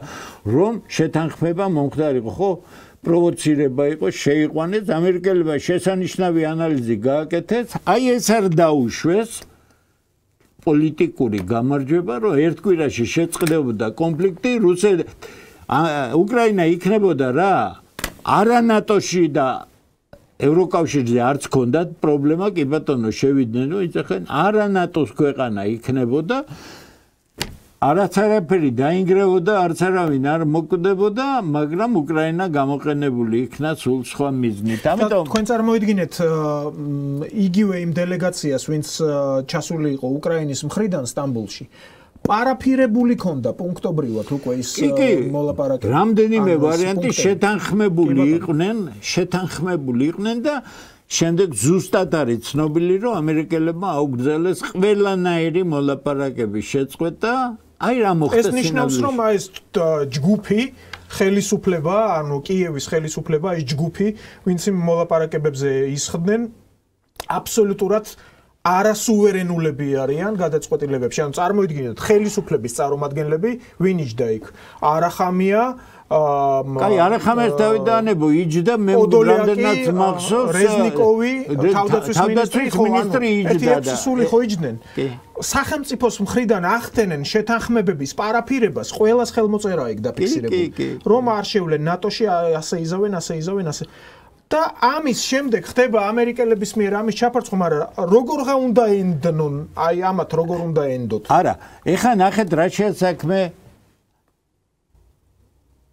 რომ შეთანხმება მომხდარიყო, ხო? პროვოცირება იყო, შეიყვანეს, ამერიკელებმა შესანიშნავი ანალიზი გააკეთეს, აი ეს არ დაუშვეს პოლიტიკური გამარჯვება, რომ ერთ კვირაში შეწყდებოდა კონფლიქტი, უკრაინა იქნებოდა რა, არა ნატოში და ევროკავშირზე არც ჰქონდათ პრობლემა, კი ბატონო შევიდნენ, რომ იცახენ, არა ნატოს ქვეყანა იქნებოდა, არც არაფერი დაინგრევოდა, არც არავინ არ მოკვდებოდა, მაგრამ უკრაინა გამოყენებული იქნა სულ სხვა მიზნით. ამიტომ თქვენ წარმოიდგინეთ იგივე იმ დელეგაციას, ვინც ჩასული იყო უკრაინის მხრიდან სტამბოლში. პარაფირებული ქონდა პუნქტობრივად უკვე ის მოლაპარაკება. რამდენიმე ვარიანტი შეთანხმებული იყვნენ და შემდეგ ზუსტად არის ცნობილი, რომ ამერიკელებმა აუგრძელეს ყველანაირი მოლაპარაკების შეწყვეტა. აი რა მოხდა ეს ნიშნავს, რომ ეს ჯგუფი ხელისუფლება, ანუ კიევის ხელისუფლება, ეს ჯგუფი, ვინც იმ მოლაპარაკებებზე ისხდნენ, აბსოლუტურად არასუვერენულები არიან გადაწყვეტილებებში. ანუ წარმოიდგინეთ, ხელისუფლების წარმომადგენლები ვინ იჯდა იქ? არახამია კაი, არახამიას დავიდანებო იჯდა, მე რამდენად მახსოვს რეზნიკოვი, თავდაცვის მინისტრი იჯდა და სული ხო იჯდნენ. სახელმწიფოს მხრიდან ახდენენ შეთანხმებების პარაფირებას, ყველას ხელმოწერა იქ დაფიქსირებული. რომ არ შევლენ ნატოში, ასე იზავენ. და ამის შემდეგ ხდება ამერიკელების მიერ ამის ჩაფარცხვა, მაგრამ როგორღა უნდა ენდნონ, აი ამათ როგორ უნდა ენდოთ? არა, ეხლა ნახეთ რა შეასაქმე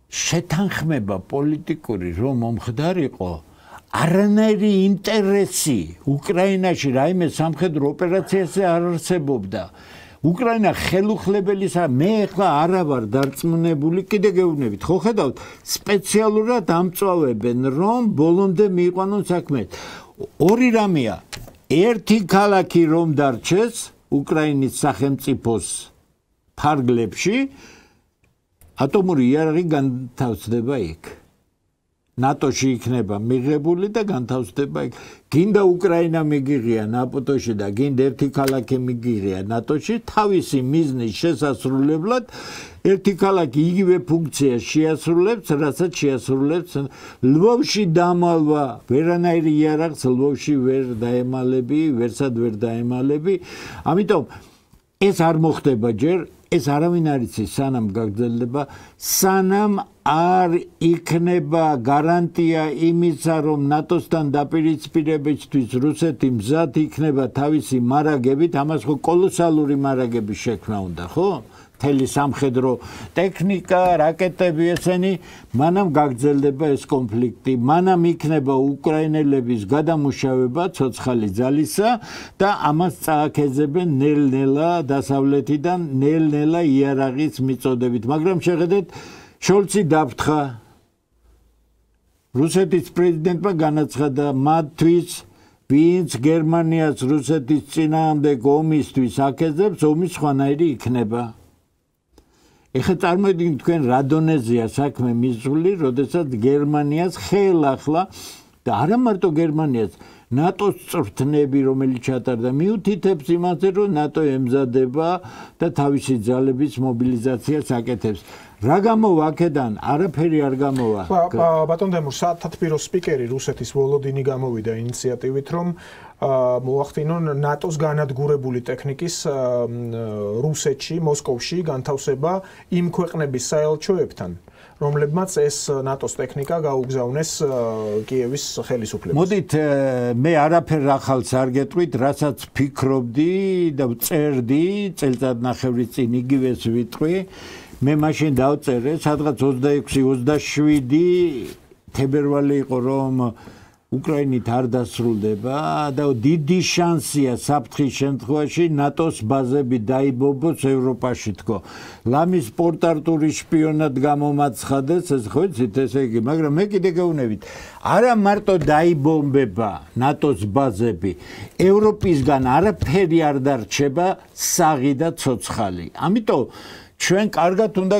შეთანხმება პოლიტიკური რომ მომხდარიყო, არანაირი ინტერესი უკრაინაში რაიმე სამხედრო ოპერაციაზე არ არსებობდა. უკრაინა ხელუხლებელისა, მე ახლა არა ვარ დარწმუნებული, კიდე გეუბნებით, ხო ხედავთ, სპეციალურად ამწვავებენ, რომ ბოლომდე მიიყვანონ საქმე. ორი რამეა, ერთი ქალაქი რომ დარჩეს უკრაინის სახელმწიფოს ფარგლებში, ატომური იარაღი განთავსდება იქ. ნატოში იქნება მიღებული და განთავსდება იქ. გინდა უკრაინა მიგიღია ნატოში და გინდა ერთი ქალაქი მიგიღია ნატოში, თავისი მიზნის შესასრულებლად ერთი ქალაქი იგივე ფუნქციას შეასრულებს, რასაც შეასრულებს ლვოვში დამალვა, ვერანაირი იარაღს ლვოვში ვერ დაემალები, ვერსად ვერ დაემალები. ამიტომ ეს არ მოხდება ჯერ, ეს არავინ არ იცის, სანამ გაგრძელდება, სანამ არ იქნება გარანტია იმისა, რომ ნატოსთან დაპირისპირებისთვის რუსეთი მზად იქნება თავისი მარაგებით, ამას ხო კოლოსალური მარაგების შექმნა უნდა, ხო? მთელი სამხედრო ტექნიკა, რაკეტები ესენი, მანამ გაგრძელდება ეს კონფლიქტი, მანამ იქნება უკრაინელების გადამუშავება ცოცხალი ძალისა და ამას წააქეზებენ ნელ-ნელა დასავლეთიდან, ნელ-ნელა იარაღის მიწოდებით. მაგრამ შეხედეთ, შოლცი დაფრთხა, რუსეთის პრეზიდენტმა განაცხადა მათთვის, ვინც გერმანიას რუსეთის წინააღმდეგ ომისთვის აკეზებს, ომი სხვანაირი იქნება. ეხლა წარმოიდგინეთ თქვენ რა დონეზეა საქმე მისული, როდესაც გერმანიას ხელახლა და არა მარტო გერმანიას, ნატოს წვრთნები, რომელიც ჩატარდა, მიუთითებს იმაზე, რომ ნატო ემზადება და თავისი ძალების მობილიზაციას აკეთებს. რა გამოვა აქედან? არაფერი არ გამოვა. ბატონ დემურ, სათათბირო სპიკერი რუსეთის ვოლოდინი გამოვიდა ინიციატივით, რომ მოახდინონ ნატოს განადგურებული ტექნიკის რუსეთში, მოსკოვში განთავსება იმ ქვეყნების საელჩოებთან, რომლებმაც ეს ნატოს ტექნიკა გაუგზავნეს კიევის ხელისუფლებას. მოდით მე არაფერ ახალს არ გეტყვით, რასაც ფიქრობდი და წერდი წელწადნახევრის წინ იგივეს ვიტყვი. მე მაშინ დავწერე, სადღაც 26-27 თებერვალი იყო, რომ უკრაინით არ დასრულდება და დიდი შანსია საფრთხის შემთხვევაში ნატოს ბაზები დაიბომბოს ევროპაში თქო. ლამის პორტარტული შპიონად გამომაცხადეს, ეს ხო იცით, ესე იგი, მაგრამ მე კიდე გეუბნებით, არა მარტო დაიბომბება ნატოს ბაზები, ევროპისგან არაფერი არ დარჩება, საღი და ცოცხალი. ამიტომ ჩვენ კარგად უნდა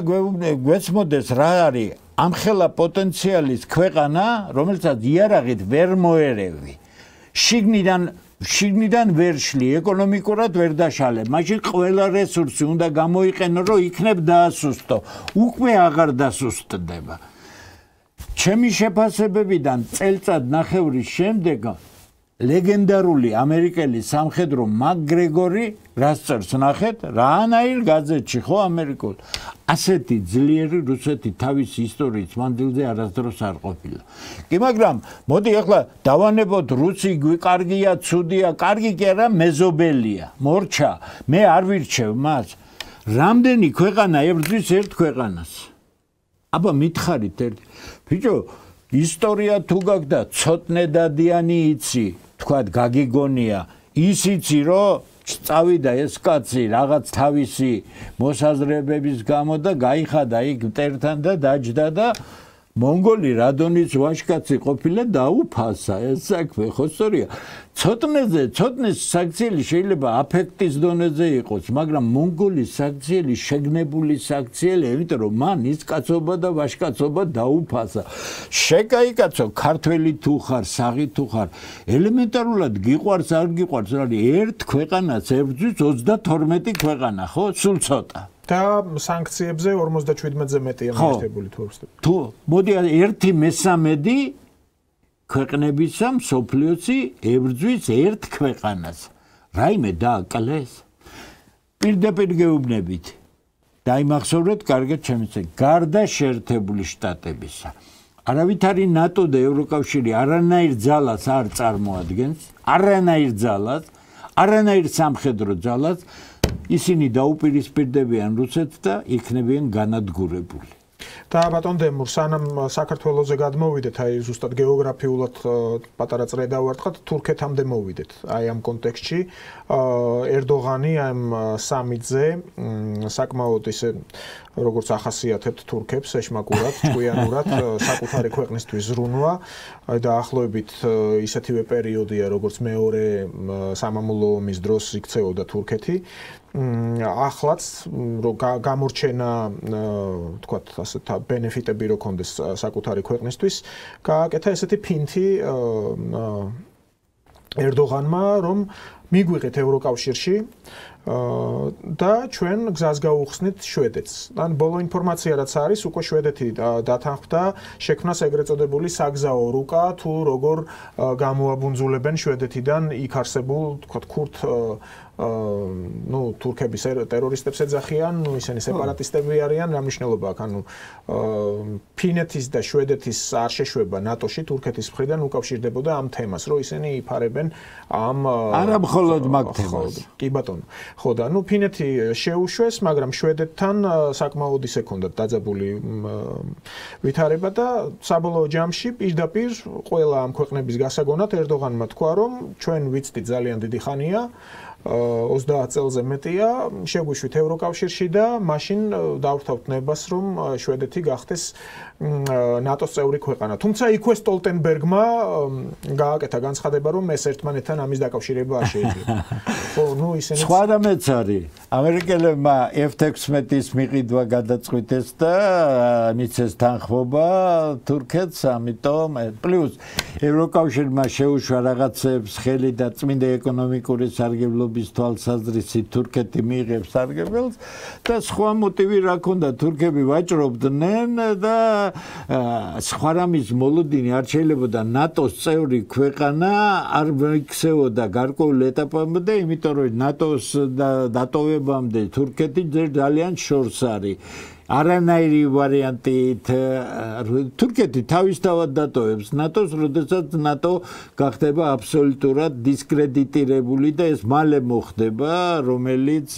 გვეცმოდეს რა არის ამხელა პოტენციალის ქვეყანა, რომელსაც იარაღით ვერ მოერევი. შიგნიდან ვერ შლი, ეკონომიკურად ვერ დაშალე. მაშინ ყველა რესურსი უნდა გამოიყენო, რომ იქნებ დაასუსტო. უკვე აღარ დასუსტდება. ჩემი შეფასებებიდან წელწადნახევრის შემდეგ ლეგენდარული ამერიკელი სამხედრო მაკგრეგორი რას წერს ნახეთ, რაანაირ გაზეთში ხო ამერიკულ. ასეთი ძლიერი რუსეთი თავის ისტორიის მანძილზე არასდროს არ ყოფილა. კი, მაგრამ მოდი ახლა დავანებოთ რუსი კარგია, ცუდია, კარგი კი არა, მეზობელია, მორჩა. მე არ ვირჩევ მას. რამდენი ქვეყანა ებრძვის ერთ ქვეყანას? აბა მითხარით ერთ. ბიჭო, ისტორია თუ გაგდა ცოტნე დადიანი იცი, თქვათ გაგიგონია, ის იცი რომ წავიდა ეს კაცი რაღაც თავისი მოსაზრებების გამო და გაიხადა იქ მტერთან და დაჯდა და მონგოლი რადონის ვაჟკაცი ყოფილა დაუფასა ეს საქმე ხო სწორია ცოტნეს საქციელი შეიძლება აფექტის დონეზე იყოს მაგრამ მონგოლის საქციელი შეგნებული საქციელი იმიტომ რომ მან ის კაცობა და ვაჟკაცობა დაუფასა შეკაიკაცო ქართველი თუ ხარ საღი თუ ხარ ელემენტარულად გიყვარს არ გიყვარს არის ერთ ქვეყანას ებრძვის 32 ქვეყანა ხო სულ ცოტა და სანქციებზე 57-ზე მეტია მიერთებული თუ ვსწრებ. თუ მოდი 1/3 ქვეყნებისა მსოფლიოსი ებრძვის ერთ ქვეყანას. რაიმე დააკლეს. პირდაპირ გეუბნებით. დაიმახსოვრეთ კარგად ჩემიცე. გარდა შეერთებული შტატებისა. არავითარი ნატო და ევროკავშირი არანაირ ძალას არ წარმოადგენს, არანაირ ძალას, არანაირ სამხედრო ძალას ისინი დაუპირისპირდებიან რუსეთს და იქნებიან განადგურებული. და ბატონ დემურ, სანამ საქართველოზე გადმოვიდეთ, აი ზუსტად გეოგრაფიულად პატარა წრე დავარტყათ, თურქეთამდე მოვიდეთ. აი ამ კონტექსტში ერდოღანი ამ სამიტზე საკმაოდ ისე როგორც ახასიათებთ თურქებს ეშმაკურად, ჭკვიანურად საკუთარი ქვეყნისთვის ზრუნვა და დაახლოებით ისეთივე პერიოდია, როგორც მეორე სამამულო ომის დროს იქცეოდა თურქეთი. ახლაც რომ გამორჩენა თქვათ ასე ბენეფიტები რო კონდეს საკუთარი ქვეყნისთვის გააკეთა ესეთი ფინთი ერდოღანმა რომ მიგვიღეთ ევროკავშირში და ჩვენ გზას გაუხსნით შვედეთს. ან ბოლო ინფორმაცია რაც არის, უკვე შვედეთი დათანხმდა შექმნას ეგრეთ წოდებული საგზაო რუკა თუ როგორ გამოაბუნძულებენ შვედეთიდან იქ არსებულ თქვათ ქურთ ну თურქების ტერორისტებს ეძახიან, ну ისინი სეპარატისტები არიან, რა მნიშვნელობა აქვს? ანუ ფინეთის და შვედეთის არ შეშვება ნატოში თურქეთის მხრიდან უკავშირდებოდა ამ თემას, რომ ისინი იფარებენ ამ არა მხოლოდ მაგ თემას. კი ბატონო. ხო და ну ფინეთი შეუშვეს, მაგრამ შვედეთთან საკმაოდ ისე ქონდათ დაძაბული ვითარება და საბოლოო ჯამში პირდაპირ ყველა ამ ქვეყნების გასაგონად ერდოღანმა თქვა, რომ ჩვენ ვიცით ძალიან დიდი ხანია 30 წელზე მეტია შეგვიშვით ევროკავშირში და მაშინ დავრთავთ ნებას რომ შვედეთი გახდეს ნატოს წევრი ქვეყანა. თუმცა იქვე სტოლტენბერგმა გააკეთა განცხადება რომ ეს ერთმანეთთან ამის დაკავშირება არ შეიძლება. ხო, ну ისინი სხვა რამეც არის. ამერიკელებმა F-16-ის მიყიდვა გადაწყვიტეს და მიცეს თანხმობა თურქეთს, ამიტომ პლუს ევროკავშირმა შეუშვა რაღაცებს ხელი და წმინდა ეკონომიკური სარგებლობის თვალსაზრისით თურქეთი მიიღებს სარგებელს და სხვა მოტივი რა ქონდა, თურქები ვაჭრობდნენ და სხვა რამის მოლოდინი არ შეიძლებოდა ნატოს წევრი ქვეყანა არ მოიქცეოდა გარკვეულ ეტაპამდე, იმიტომ რომ ნატოს დატოვებამდე თურქეთი ძალიან შორს არის. არანაირი ვარიანტით თურქეთი თავისთავად დატოვებს ნატოს, როდესაც ნატო გახდება აბსოლუტურად დისკრედიტირებული და ეს მალე მოხდება, რომელიც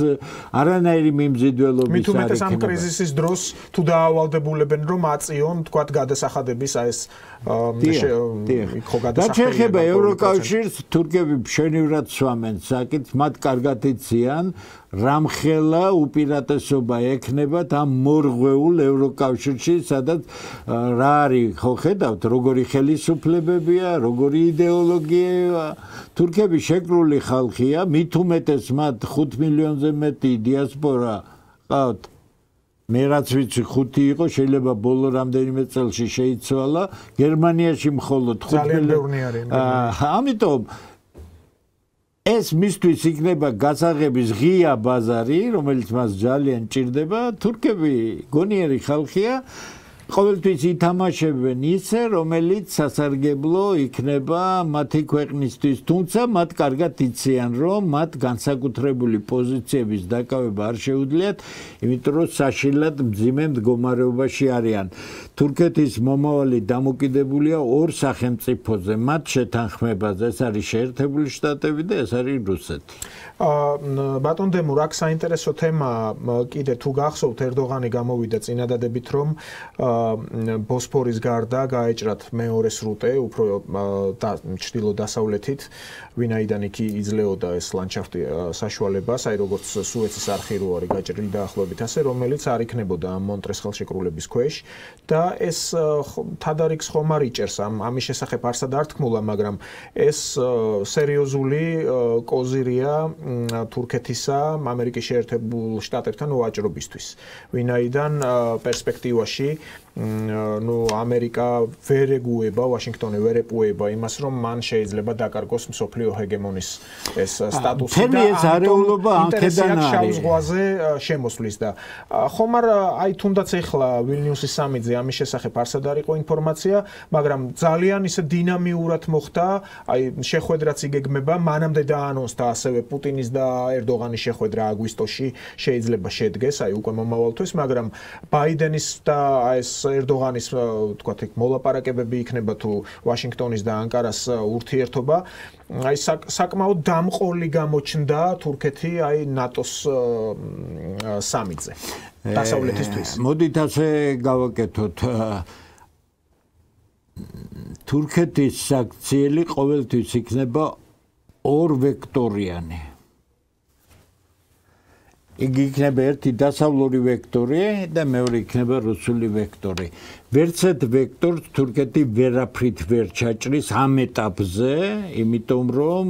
არანაირი მიმზიდველობის მით უმეტეს ამ კრიზისის დროს თუ დაავალდებულებენ რომ აწიონ თქვათ გადასახადების ეს ხო გადასახადები და ევროკავშირს თურქები მშვენივრად სვამენ საკითხს, მათ კარგად იციან რამხელა უპირატესობა ექნებათ ამ მორღვეულ ევროკავშირში, სადაც რა არის, ხო ხედავთ, როგორი ხელისუფლებებია, როგორი იდეოლოგია. თურქები შეკრული ხალხია, მით უმეტეს მათ 5 მილიონზე მეტი დიასპორა ყავთ. მე რაც ვიცი 5 იყო, შეიძლება ბოლო რამდენიმე წელში შეიცვალა, გერმანიაში მხოლოდ 5 მილიონი არის. ამიტომ ეს მისთვის იქნება გასაღების ღია ბაზარი, რომელიც მას ძალიან ჭირდება. თურქები გონიერი ხალხია, ყოველთვის ითამაშებენ ისე, რომელიც სასარგებლო იქნება მათი ქვეყნისთვის, თუმცა მათ კარგად იციან, რომ მათ განსაკუთრებული პოზიციების დაკავება არ შეუძლიათ, იმიტომ რომ საშინლად მძიმე მდგომარეობაში არიან. თურქეთის მომავალი დამოკიდებულია ორ სახელმწიფოზე, მათ შეთანხმებაზე, ეს არის შეერთებული შტატები და ეს არის რუსეთი. ბატონ დემურ, აქ საინტერესო თემა კიდე თუ გახსოვთ, ერდოღანი გამოვიდა წინადადებით, რომ ბოსფორის გარდა გაეჭრათ მეორე სრუტე, უფრო ჩრდილო-დასავლეთით, ვინაიდან იქ იძლეოდა ეს ლანდშაფტი საშუალებას, აი როგორც სუეცის არხი რო არის გაჭრილი დაახლოებით ასე, რომელიც არ იქნებოდა ამ მონტრეს ხელშეკრულების ქვეშ და ეს თადარიგს ხომ არ იჭერს ამის შესახებ არსად არ თქმულა, მაგრამ ეს სერიოზული კოზირია თურქეთისა ამერიკის შეერთებულ შტატებთან ვაჭრობისთვის. ვინაიდან პერსპექტივაში ამერიკა ვერ ეგუება, ვაშინგტონი ვერ ეპუება იმას, რომ მან შეიძლება დაკარგოს მსოფლიო ჰეგემონის ეს სტატუსი და ეს არეულობა ანქედან არის შავ ზღვაზე შემოსვლის და ხომ არ აი თუნდაც ეხლა ვილნიუსის სამიტზე ამის შესახებ არსად არ იყო ინფორმაცია, მაგრამ ძალიან ისე დინამიურად მოხდა, აი შეხვედრაც იგეგმება, მანამდე დაანონსდა ასევე პუტინის და ერდოღანის შეხვედრა აგვისტოში შეიძლება შედგეს, აი უკვე მომავალთვის, მაგრამ ბაიდენის და ეს ერდოღანის თქვათ იქ მოლაპარაკებები იქნება თუ ვაშინგტონის და ანკარას ურთიერთობა, აი საკმაოდ დამყოლი გამოჩნდა თურქეთი აი ნატოს სამიტზე დასავლეთისთვის. მოდით ასე გავაკეთოთ. თურქეთის საქციელი ყოველთვის იქნება ორ ვექტორიანი. იგი იქნება ერთი დასავლური ვექტორი და მეორე იქნება რუსული ვექტორი. ვერცერთ ვექტორს თურქეთი ვერაფრით ვერ ჩაჭრის ამ ეტაპზე, იმიტომ რომ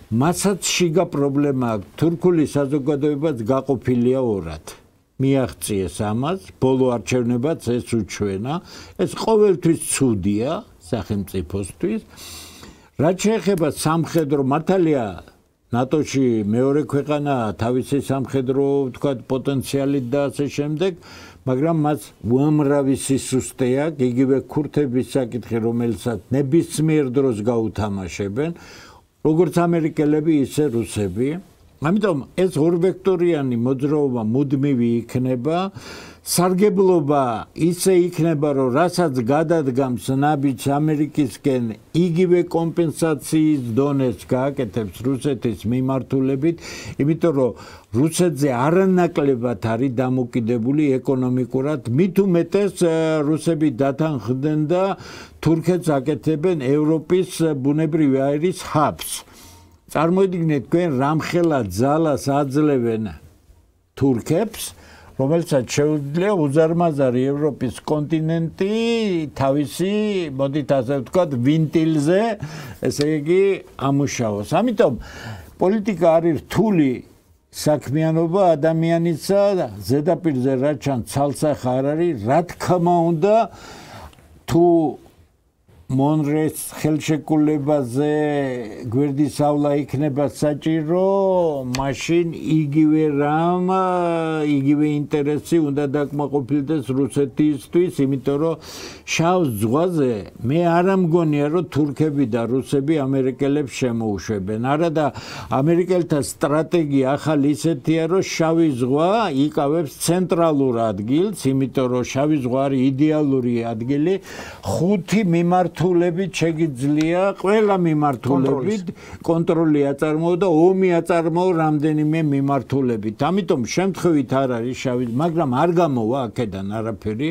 მასაც შიგა პრობლემა აქვს. თურქული საზოგადოებაც გაყოფილია ორად. მიაღწიეს ამას, ბოლო არჩევნებაც ეს უჩვენა, ეს ყოველთვის ცუდია სახელმწიფოსთვის. რაც შეეხება სამხედრო მართალია ნატოში მეორე ქვეყანა თავისი სამხედრო თქვათ პოტენციალით და ასე შემდეგ, მაგრამ მას უამრავი სისუსტე აქვს, იგივე ქურთების საკითხი, რომელსაც ნებისმიერ დროს გაუთამაშებენ, როგორც ამერიკელები, ისე რუსები. ამიტომ ეს ორვექტორიანი მოძრაობა მუდმივი იქნება. სარგებლობა ისე იქნება, რომ რასაც გადადგამს ნაბიჯს ამერიკისკენ, იგივე კომპენსაციის დონეს გააკეთებს რუსეთის მიმართულებით, იმიტომ რომ რუსეთზე არანაკლებად არის დამოკიდებული ეკონომიკურად, მით უმეტეს რუსები დათანხმდნენ და თურქეთს აკეთებენ ევროპის ბუნებრივი აირის ჰაბს. წარმოიდგინეთ თქვენ რამხელა ძალას აძლევენ თურქებს, რომელსაც შეუძლია უზარმაზარი ევროპის კონტინენტი თავისი, მოდით ასე ვთქვათ, ვინტილზე, ესე იგი, ამუშავოს. ამიტომ პოლიტიკა არის რთული საქმიანობა ადამიანისა ზედაპირზე რა ჩან ცალსახა არ არის, რა თქმა უნდა თუ მონრეს ხელშეკრულებაზე გვერდისავლა იქნება საჭირო, მაშინ იგივე რამ, იგივე ინტერესი უნდა დაკმაყოფილდეს რუსეთისთვის, იმიტომ რომ შავ ზღვაზე მე არ ამგონია რომ თურქები და რუსები ამერიკელებს შემოუშვებენ. არა და ამერიკელთა სტრატეგია ახალი ისეთია, რომ შავი ზღვა იკავებს ცენტრალურ ადგილს, იმიტომ რომ შავი ზღვა არის იდეალური ადგილი, 5 მიმართულებით შეგიძლია ყველა მიმართულებით კონტროლი აწარმოო და ომი აწარმოო რამდენიმე მიმართულებით. ამიტომ შემთხვევით არ არის შავი, მაგრამ არ გამოვა აქედან არაფერი.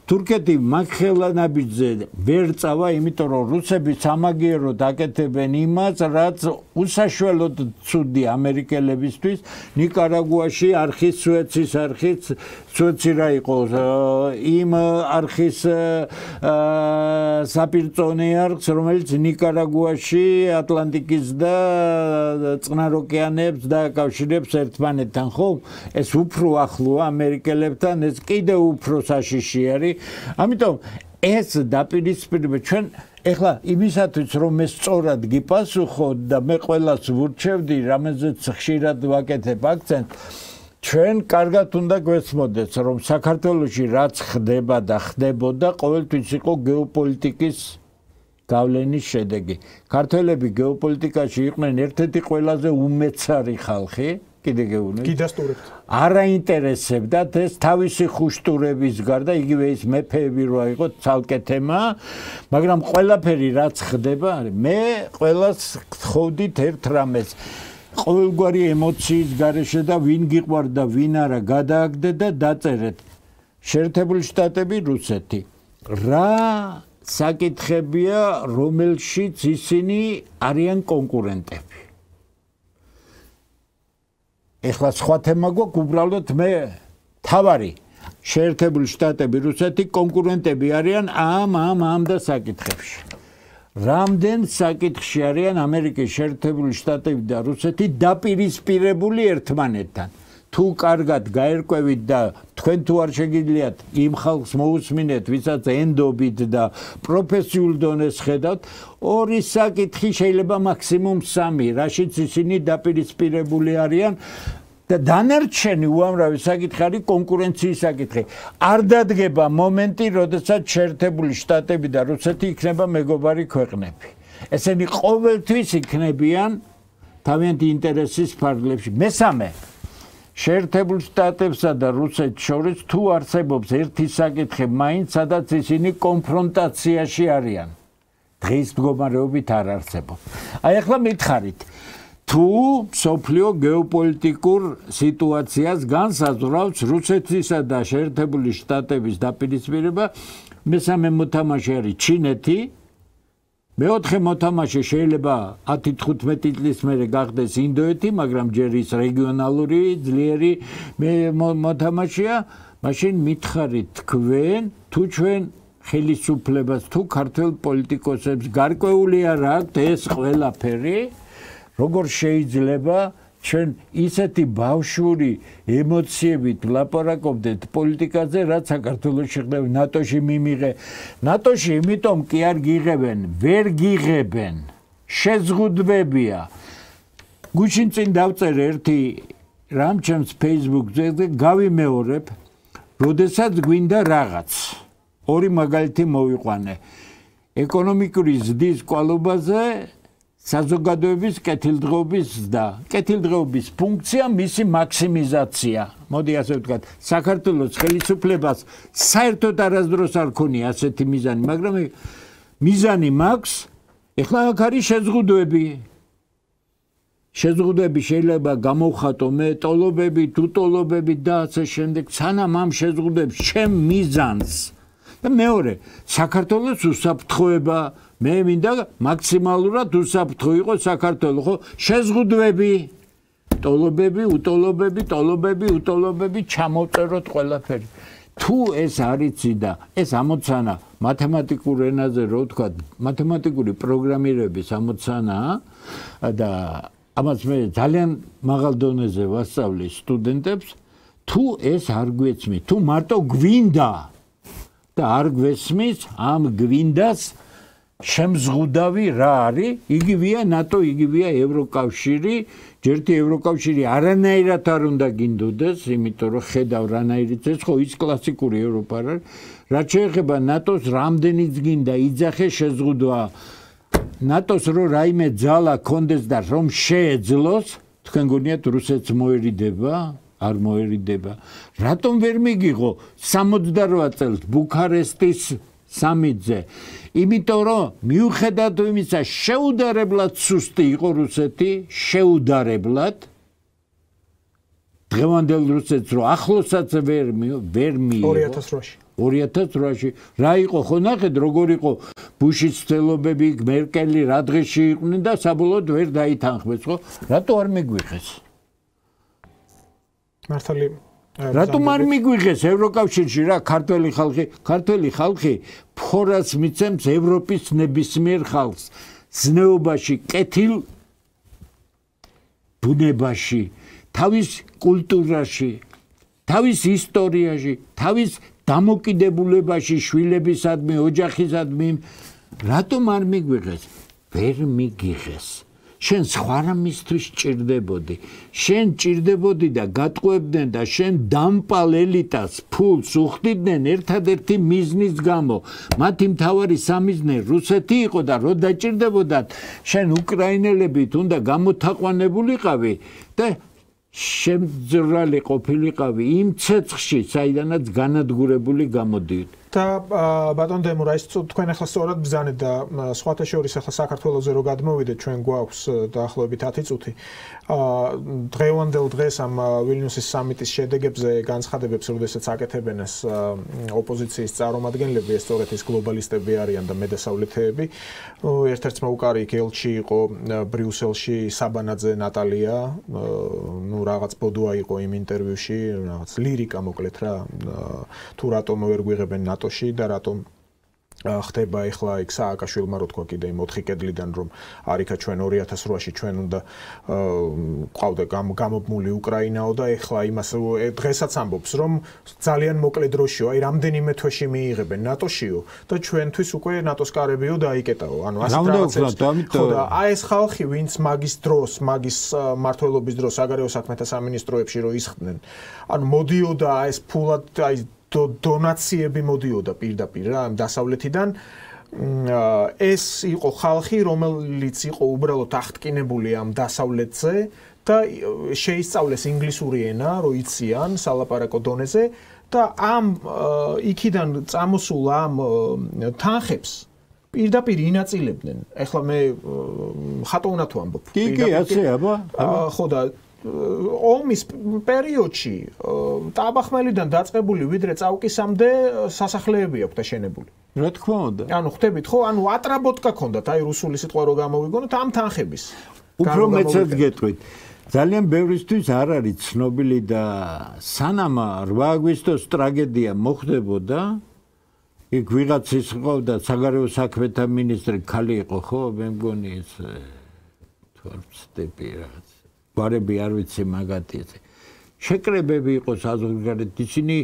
თურქეთი მაგხელანაბიჯზე ვერ წავა, იმიტომ რომ რუსები სამაგიეროდ აკეთებენ იმას, რაც უსაშველოდ ცუდი ამერიკელებისთვის. ნიკარაგუაში არხის სუეცის არხის სუეცი რა იყო იმ არხის საპირწონე არხს, რომელიც ნიკარაგუაში ატლანტიკის და წყნარ ოკეანეებს დააკავშირებს ერთმანეთთან, ხო? ეს უფრო ახლოა ამერიკელებთან, ეს კიდევ უფრო საშიში არის. ამიტომ ეს დაპირისპირება ჩვენ ეხლა იმისათვის რომ მე სწორად გიპასუხოთ და მე ყველას ვურჩევდი, რამაზეც ხშირად ვაკეთებ აქცენტს, ჩვენ კარგად უნდა გვესმოდეს, რომ საქართველოში რაც ხდება და ხდებოდა, ყოველთვის იყო გეოპოლიტიკის გავლენის შედეგი. ქართველები გეოპოლიტიკაში იყვნენ ერთ-ერთი ყველაზე უმეცარი ხალხი, კიდე გეუბნებით. გიდასტურებთ. არაინტერესებდათ ეს თავისი ხუშტურების გარდა, იგივე ის მეფეები რა იყო ცალკე თემა, მაგრამ ყველაფერი რაც ხდება, მე ყველას გთხოვდით ერთ რამეს. ყოველგვარი ემოციის გარეშე და ვინ გიყვარდა, ვინ არა, გადააგდეთ და დაწერეთ. შეერთებული შტატები, რუსეთი. რა საკითხებია, რომელშიც ისინი არიან კონკურენტები. ეხლა სხვა თემა გვაქვს, უბრალოდ მე თავარი შეერთებული შტატები, რუსეთი კონკურენტები არიან ამ და საკითხებში. რამდენ საკითხში არიან ამერიკის შეერთებული შტატები და რუსეთი დაპირისპირებული ერთმანეთთან. თუ კარგად გაერკვევით და თქვენ თუ არ შეგიძლიათ იმ ხალხს მოусმინეთ, ვისაც ენდობით და პროფესიულ დონეს ხედავთ, ორი საკითხი შეიძლება მაქსიმუმ 3, რაშიც ისინი დაპირისპირებული არიან და დანარჩენი უამრავი საკითხი არის კონკურენციის საკითხი. არ დადგება მომენტი, როდესაც შეერთებული შტატები და რუსეთი იქნება მეგობარი ქვეყნები. ესენი ყოველთვის იქნებიან თავიანთი ინტერესის ფარგლებში. მესამე შეერთებულ შტატებსა და რუსეთს შორის თუ არსებობს ერთი საკითხი მაინც, სადაც ისინი კონფრონტაციაში არიან. დღის მდგომარეობით არ არსებობს. აი ახლა მითხარით, თუ მსოფლიო გეოპოლიტიკურ სიტუაციას განსაზღვრავს რუსეთისა და შეერთებული შტატების დაპირისპირება, მესამე მოთამაშე არის ჩინეთი, მეოთხე მოთამაშე შეიძლება 10-15 წლის მერე გახდეს ინდოეთი, მაგრამ ჯერ ის რეგიონალური ძლიერი მოთამაშეა, მაშინ მითხარით თქვენ, თუ ჩვენ ხელისუფლებას, თუ ქართველ პოლიტიკოსებს გარკვეული არ აქვთ ეს ყველაფერი, როგორ შეიძლება ჩვენ ისეთი ბავშვური ემოციებით ვლაპარაკობდეთ პოლიტიკაზე, რაც საქართველოში ხდება. ნატოში მიმიღე. ნატოში იმიტომ კი არ გიღებენ, ვერ გიღებენ. შეზღუდვებია. გუშინ წინ დავწერე ერთი რამ ჩემს Facebook-ზე და გავიმეორებ, როდესაც გვინდა რაღაც. ორი მაგალითი მოვიყვანე. ეკონომიკური ზრდის კვალობაზე საზოგადოების კეთილდღეობის და კეთილდღეობის ფუნქცია მისი მაქსიმიზაცია. მოდი ასე ვთქვათ, საქართველოს ხელისუფლებას საერთოდ არასდროს არ ქონია ასეთი მიზანი, მაგრამ მიზანი მაქვს, ეხლა აქ არის შეზღუდვები. შეზღუდვები შეიძლება გამოვხატო მე ტოლობები, თუ ტოლობები და ასე შემდეგ, სანამ ამ შეზღუდვებს ჩემ მიზანს და მეორე, საქართველოს უსაფრთხოება მე მინდა მაქსიმალურად უსაფრთხო იყო საქართველო, ხო? შეზღუდვები, ტოლობები, უტოლობები ჩამოვწეროთ ყველაფერი. თუ ეს არიცი და ეს ამოცანა მათემატიკურ ენაზე რო ვთქვათ, მათემატიკური პროგრამირების ამოცანაა და ამას მე ძალიან მაღალ დონეზე ვასწავლი სტუდენტებს, თუ ეს არ გვეცმის, თუ მარტო გვინდა და არ გვესმის, ამ გვინდას შემზღუდავი რა არის? იგივეა ნატო, იგივეა ევროკავშირი, ჯერთი ევროკავშირი არანაირად არ უნდა გინდოდეს, იმიტომ რომ ხედავ რანაირიც ეს ხო ის კლასიკური ევროპა არის. რაც შეეხება ნატოს რამდენიც გინდა იძახე შეზღუდვა ნატოს რო რაიმე ძალა კონდეს და რომ შეეძლოს, თქვენ გონიათ რუსეთს მოერიდება? არ მოერიდება. რატომ ვერ მიგიღო 68 წელს ბუქარესტის სამიტზე? იმიტომ რომ მიუხედავად იმისა, შეუდარებლად სუსტი იყო რუსეთი, შეუდარებლად დღევანდელ რუსეთს რო ახლოსაც ვერ მიიღო 2008-ში. 2008-ში რა იყო ხო ნახეთ როგორ იყო ბუშის ცდელობები, მერკელი რა დღეში იყვნენ და საბოლოოდ ვერ დაითანხმეს ხო? რატო არ მიგვიღეს? მართალი რატომ არ მიგვიღეს ევროკავშირში რა ქართველი ხალხი ფორას მიცემს ევროპის ნებისმიერ ხალხს ზნეობაში, კეთილ ბუნებაში, თავის კულტურაში, თავის ისტორიაში, თავის დამოკიდებულებაში, შვილებისადმი, ოჯახისადმი, რატომ არ მიგვიღეს? ვერ მიგიღეს. შენ სხვა რამისთვის ჭირდებოდი. შენ ჭირდებოდი და გატყუებდნენ და შენ დამპალ ელიტას ფულს უხდიდნენ ერთადერთი მიზნის გამო. მათი მთავარი სამიზნე რუსეთი იყო და რო დაჭირდებოდათ, შენ უკრაინელებით უნდა გამოთაყვანებულიყავი და შემძრალი ყოფილიყავი იმ ცეცხლში, საიდანაც განადგურებული გამოდიოდ. და ბატონ დემურა, ის თქვენ ახლა სწორად ბრძანეთ და სხვათა შორის ახლა საქართველოზე რო გადმოვიდეთ, ჩვენ გვაქვს დაახლოებით 10 წუთი. დღევანდელ დღეს ამ ვილნიუსის სამიტის შედეგებზე განცხადებებს, როდესაც აკეთებენ ეს ოპოზიციის წარმომადგენლები, ეს სწორედ ის გლობალისტები არიან და მედასავლეთეები. ერთ-ერთ მოუკარი ელჩი იყო ბრიუსელში საბანაძე ნატალია, რაღაც ბოდუა იყო იმ ინტერვიუში, რაღაც ლირიკა მოკლედ რა, თუ რატომ ვერ გვიღებენ ნატოში და რატომ ხდება ახლა იქ სააკაშვილმა რო თქვა კიდე იმ 4 კედლიდან რომ არიქა ჩვენ 2008-ში ჩვენ უნდა ყავდა გამობმული უკრაინაო და ახლა იმას დღესაც ამბობს რომ ძალიან მოკლე დროშიო, აი რამდენიმე თვეში მიიღებენ ნატოშიო და ჩვენთვის უკვე ნატოს კარებიო დაიკეტაო. ანუ ასეთ რაღაცებს. ხო და აი ეს ხალხი ვინც მაგის დროს, მაგის მართლობის დროს საგარეო საქმეთა სამინისტროებში რო ისხდნენ, ანუ მოდიოდა ეს ფულად აი დონაციები მოდიოდა პირდაპირ რა დასავლეთიდან ეს იყო ხალხი რომელიც იყო უბრალოდ აღტკინებული ამ დასავლეთზე და შეისწავლეს ინგლისური ენა რო იციან სალაპარაკო დონეზე და ამ იქიდან წამოსულ ამ თანხებს პირდაპირ ინაწილებდნენ. ეხლა მე ხატოვნად ვამბობ. კი, ასე აბა. ხო და ომის პერიოდში ტაბახმელიდან დაწყებული ვიდრე წავკისამდე სასახლეები აქვს დაშენებული. რა თქმა უნდა. ანუ ხვდებით ხო? ანუ ატრაბოტკა ქონდათ, აი რუსული სიტყვა რო გამოვიგონოთ ამ თანხების. უფრო მეცად გეტყვით. ძალიან ბევრისთვის არ არის ცნობილი და სანამ 8 აგვისტოს ტრაგედია მოხდებოდა, იქ ვიღაც ის ყავდა საგარეო საქმეთა მინისტრი ქალი იყო ხო? მე მგონი ეს თორცდები რაღაც გვარები არ ვიცი მაგათი შეკრებები იყო საზღვარგარეთ ისინი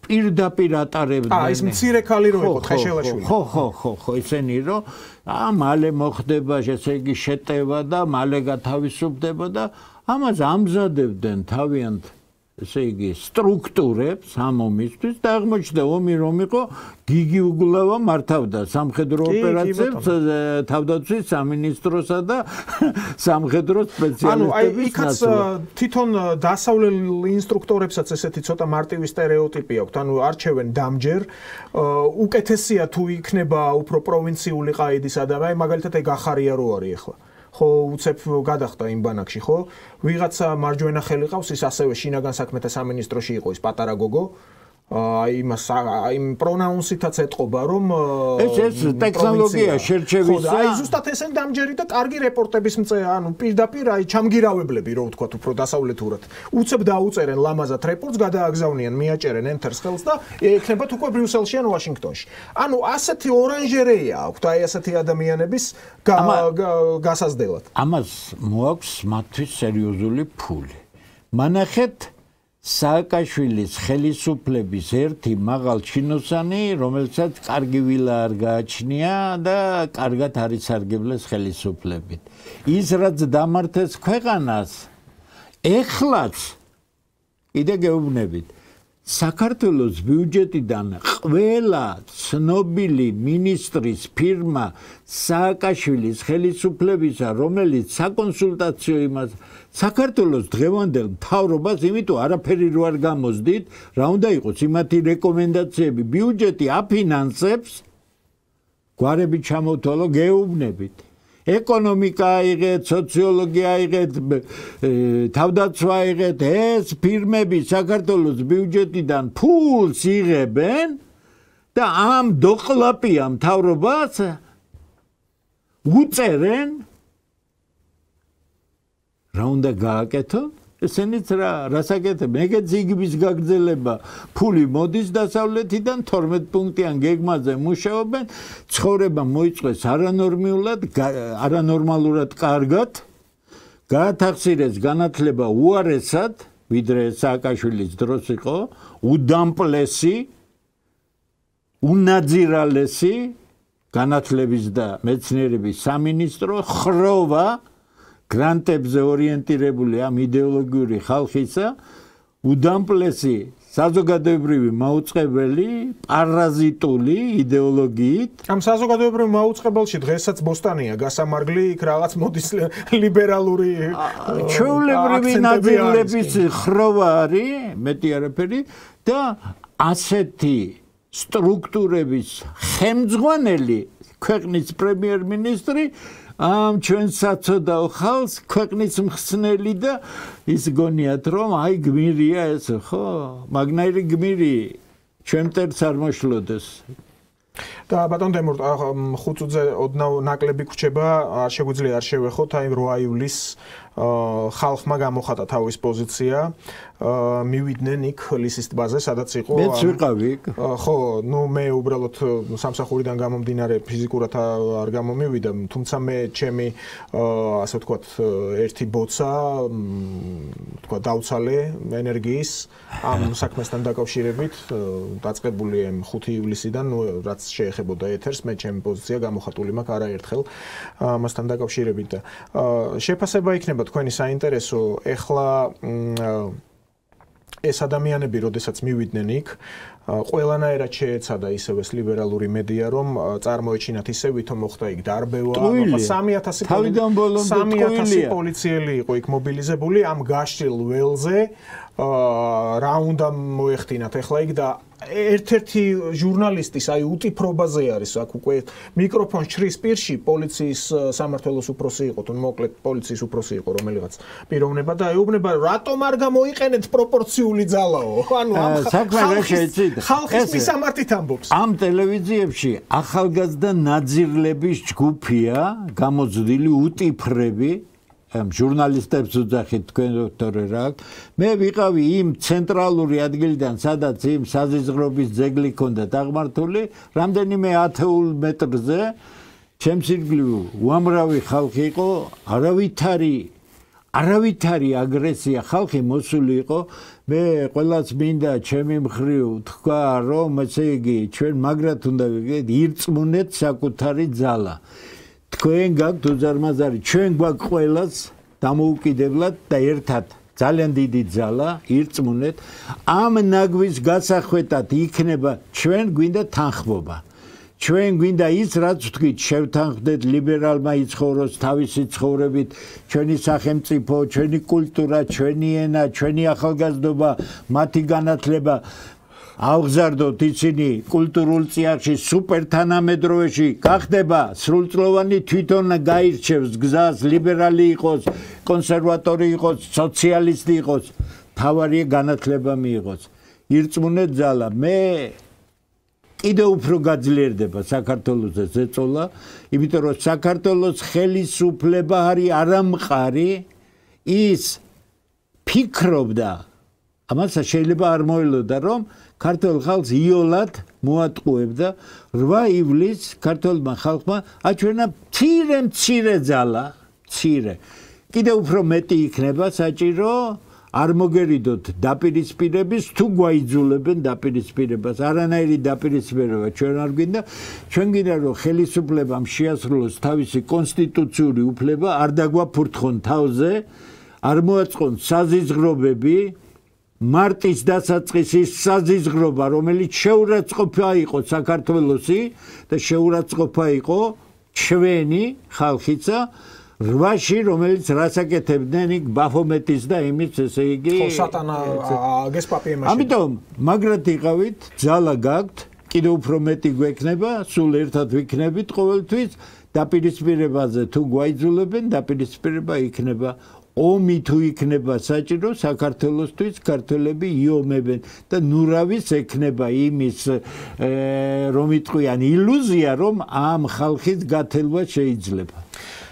პირდაპირ ატარებდნენ ის მცირე ქალი რო იყო ხეშელაშვილი ხო ისენი რომ მალე მოხდება ესე იგი შეტევა და მალე გათავისუფლდება და ამას ამზადებდნენ თავიანთ ესე იგი სტრუქტურებს ამ ომისთვის და აღმოჩნდა ომი რომ იყო გიგი უგლავა მართავდა სამხედრო ოპერაციებს თავდაცვის სამინისტროსა და სამხედრო სპეციალისტების იქაც თვითონ დასავლელ ინსტრუქტორებსაც ესეთი ცოტა მარტივი სტერეოტიპი აქვს ანუ არჩევენ დამჯერ უკეთესია თუ იქნება უფრო პროვინციული ყაიდის ადამიანი მაგალითად ეგ ახარია რო არის ახლა ხო უცებ გადახდა იმ ბანაკში ხო ვიღაცა მარჯვენა ხელი ყავს ის ასევე შინაგან საქმეთა სამინისტროში იყო ის პატარა გოგო იმ პრონაუნსითაც ეთყობა რომ ეს ტექნოლოგია შერჩევისა აი ზუსტად ესენი დამჯერი და კარგი რეპორტების მწეა ანუ პირდაპირ აი ჩამგირავებლები რო ვთქვათ უფრო დასავლეთურად უცებ დაუწერენ ლამაზად რეპორტს გადააგზავნიან მიაჭერენ ენტერს ხელს და ექნებათ უკვე ბრიუსელში ან ვაშინგტონში ანუ ასეთი ორანჟერეა აქვთ აი ასეთი ადამიანების გასაზრდელად ამას მოაქვს მათთვის სერიოზული ფული მანახეთ სააკაშვილის ხელისუფლების ერთი მაღალ ჩინოსანი, რომელსაც კარგი ვილა არ გააჩნია და კარგად არის სარგებლეს ხელისუფლებით. ის რაც დამართეს ქვეყანას, ეხლაც კიდე გეუბნებით, საქართველოს ბიუჯეტიდან ყველა ცნობილი მინისტრის ფირმა სააკაშვილის ხელისუფლებისა, რომელიც საკონსულტაციო იმას საქართველოს დღევანდელ მთავრობას, იმიტომ არაფერი რო არ გამოსდით, რა უნდა იყოს იმათი რეკომენდაციები, ბიუჯეტი აფინანსებს, გვარები ჩამოთვალო, გეუბნებით. ეკონომიკა აიღეთ, სოციოლოგია აიღეთ, თავდაცვა აიღეთ, ეს ფირმები საქართველოს ბიუჯეტიდან ფულს იღებენ და ამ დოყლაპია მთავრობას უწერენ რა უნდა გააკეთო? ესენიც რას აკეთებენ? ეგეც იგების გაგრძელება ფული მოდის დასავლეთიდან 12 პუნქტიან გეგმაზე მუშაობენ, ცხოვრება მოიწყეს არანორმალურად კარგად, გაათახსირეს განათლება უარესად, ვიდრე სააკაშვილის დროს იყო, უდამპლესი, უნაძირალესი განათლების და მეცნიერების სამინისტრო ხროვა გრანტებზე ორიენტირებული ამ იდეოლოგიური ხალხისა უდამპლესი საზოგადოებრივი მაუწყებელი პარაზიტული იდეოლოგიით ამ საზოგადოებრივ მაუწყებელში დღესაც ბოსტანია გასამარგლი იქ რაღაც მოდის ლიბერალური ჩვეულებრივი ნაძილების ხროვა არის მეტი არაფერი და ასეთი სტრუქტურების ხელმძღვანელი ქვეყნის პრემიერ-მინისტრი ამ ჩვენ საწოდაო ხალხს ქვეყნის მხსნელი და ის გონიათ რომ აი გმირია ეს ხო მაგნაირი გმირი ჩვენ მტერს არ მოშლოდეს და ბატონ დემურტ ხუწუძე ოდნავ ნაკლები ქრჩება არ შეგვიძლია არ შევეხოთ აი 8 ივლისს ხალხმა გამოხატა თავის პოზიცია მივიდნენ იქ ლისის ტბაზე სადაც იყო მეც ვიყავი იქ ხო ნუ მე უბრალოდ სამსახურიდან გამომდინარე ფიზიკურად არ გამომივიდა თუმცა მე ჩემი ასე ვთქვათ ერთი ბოცა ვთქვათ დავცალე ენერგიის ამ საქმესთან დაკავშირებით დაწყებული ამ 5 ივლისიდან ნუ რაც შეეხებოდა ეთერს მე ჩემი პოზიცია გამოხატული მაქვს არაერთხელ ამასთან დაკავშირებით და შეფასება იქნება თქვენი საინტერესო ეხლა ეს ადამიანები როდესაც მივიდნენ იქ ყველანაირად შეეცადა ისევ ეს ლიბერალური მედია რომ წარმოეჩინათ ისე ვითომ მოხდა იქ დარბევა 3000 პოლიციელი იყო იქ მობილიზებული ამ გაშლილ ველზე რა უნდა მოეხდინათ ეხლა იქ და ერთ-ერთი ჟურნალისტის აი უტიფრობაზე არის აქ უკვე მიკროფონს ჩრის პირში პოლიციის სამმართველოს უფროსი იყო თუ მოკლედ პოლიციის უფროსი იყო რომელიღაც პიროვნება და ეუბნება რატომ არ გამოიყენეთ პროპორციული ძალაო ანუ ხალხის მისამართით ამბობს ამ ტელევიზიებში ახალგაზრდა ნაძირლების ჯგუფია გამოზრდილი უტიფრები ჟურნალისტებს უძახით თქვენ დოქტორე რა მე ვიყავი იმ ცენტრალური ადგილიდან სადაც იმ საზიზღრობის ძეგლი ჰქონდა დაღმართული რამდენიმე 10 მეტრზე ჩემს ირგვლივ უამრავი ხალხი იყო არავითარი აგრესია ხალხი მოსული იყო მე ყველას მინდა ჩემი მხრივ თქვა რომ ესე იგი ჩვენ მაგრად უნდა ვიგეთ ირწმუნეთ საკუთარი ძალა თქვენ გაქვთ უზარმაზარი ჩვენ გვაქვს ყველას დამოუკიდებლად და ერთად ძალიან დიდი ძალა ირწმუნეთ ამ ნაგვის გასახვედად იქნება ჩვენ გვინდა თანხმობა ჩვენ გვინდა ის რაც ვთქვით შევთანხმდეთ ლიბერალმა იცხოვროს თავისი ცხოვრებით ჩვენი სახელმწიფო ჩვენი კულტურა ჩვენი ენა ჩვენი ახალგაზრდობა მათი განათლება ავგზარდოთ ისინი კულტურულ წიაღში სუპერთანამედროვეში გახდება სრულწლოვანი თვითონ გაირჩევს გზას ლიბერალი იყოს კონსერვატორი იყოს სოციალისტი იყოს თავარი განათლება მიიღოს ირწმუნეთ ძალა. მე კიდევ უფრო გაძლიერდება საქართველოს ზეწოლა, იმიტომ რომ საქართველოს ხელისუფლება არის არამყარი, ის ფიქრობდა, ამასაც შეიძლება არ მოელოდა, რომ ქართულ ხალხს იოლად მოატყუებდა 8 ივლისს ქართულმა ხალხმა აჩვენა მცირე ძალა, მცირე. კიდევ უფრო მეტი იქნება საჭირო არ მოგერიდოთ დაპირისპირების, თუ გვაიძულებენ დაპირისპირებას. არანაირი დაპირისპირება ჩვენ არ გვინდა. ჩვენ გინდა რომ ხელისუფლებამ შეასრულოს თავისი კონსტიტუციური უფლება, არ დაგვაფურთხონ თავზე, არ მოაწყონ საზიზღრობები. მარტის დასაწყისის საზიზღრობა, რომელიც შეურაცხყოფა იყო საქართველოსი და შეურაცხყოფა იყო ჩვენი ხალხიცა 8-ში, რომელიც რასაკეთებდნენ იქ ბაფომეტის და იმის, ესე იგი, ხო, სატანა გესპაპი ემაშინ. ამიტომ მაგრად იყავით, ძალა გაქვთ, კიდევ უფრო მეტი გვექნება, სულ ერთად ვიქნებით ყოველთვის, დაპირისპირებაზე თუ გვაიძულებენ, დაპირისპირება იქნება. ომი თუ იქნება საჭირო საქართველოსთვის ქართველები იომებენ და ნურავის ექნება იმის რომ იტყვიან ილუზია რომ ამ ხალხის გათელვა შეიძლება.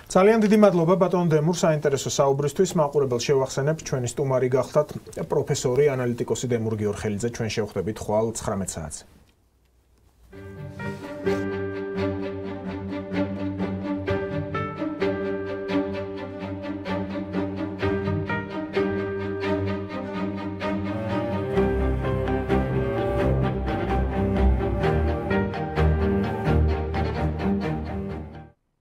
ძალიან დიდი მადლობა ბატონ დემურ საინტერესო საუბრისთვის. მაყურებელს შევახსენებ, ჩვენი სტუმარი გახლდათ პროფესორი ანალიტიკოსი დემურ გიორხელიძე. ჩვენ შევხვდებით ხვალ 19 საათზე.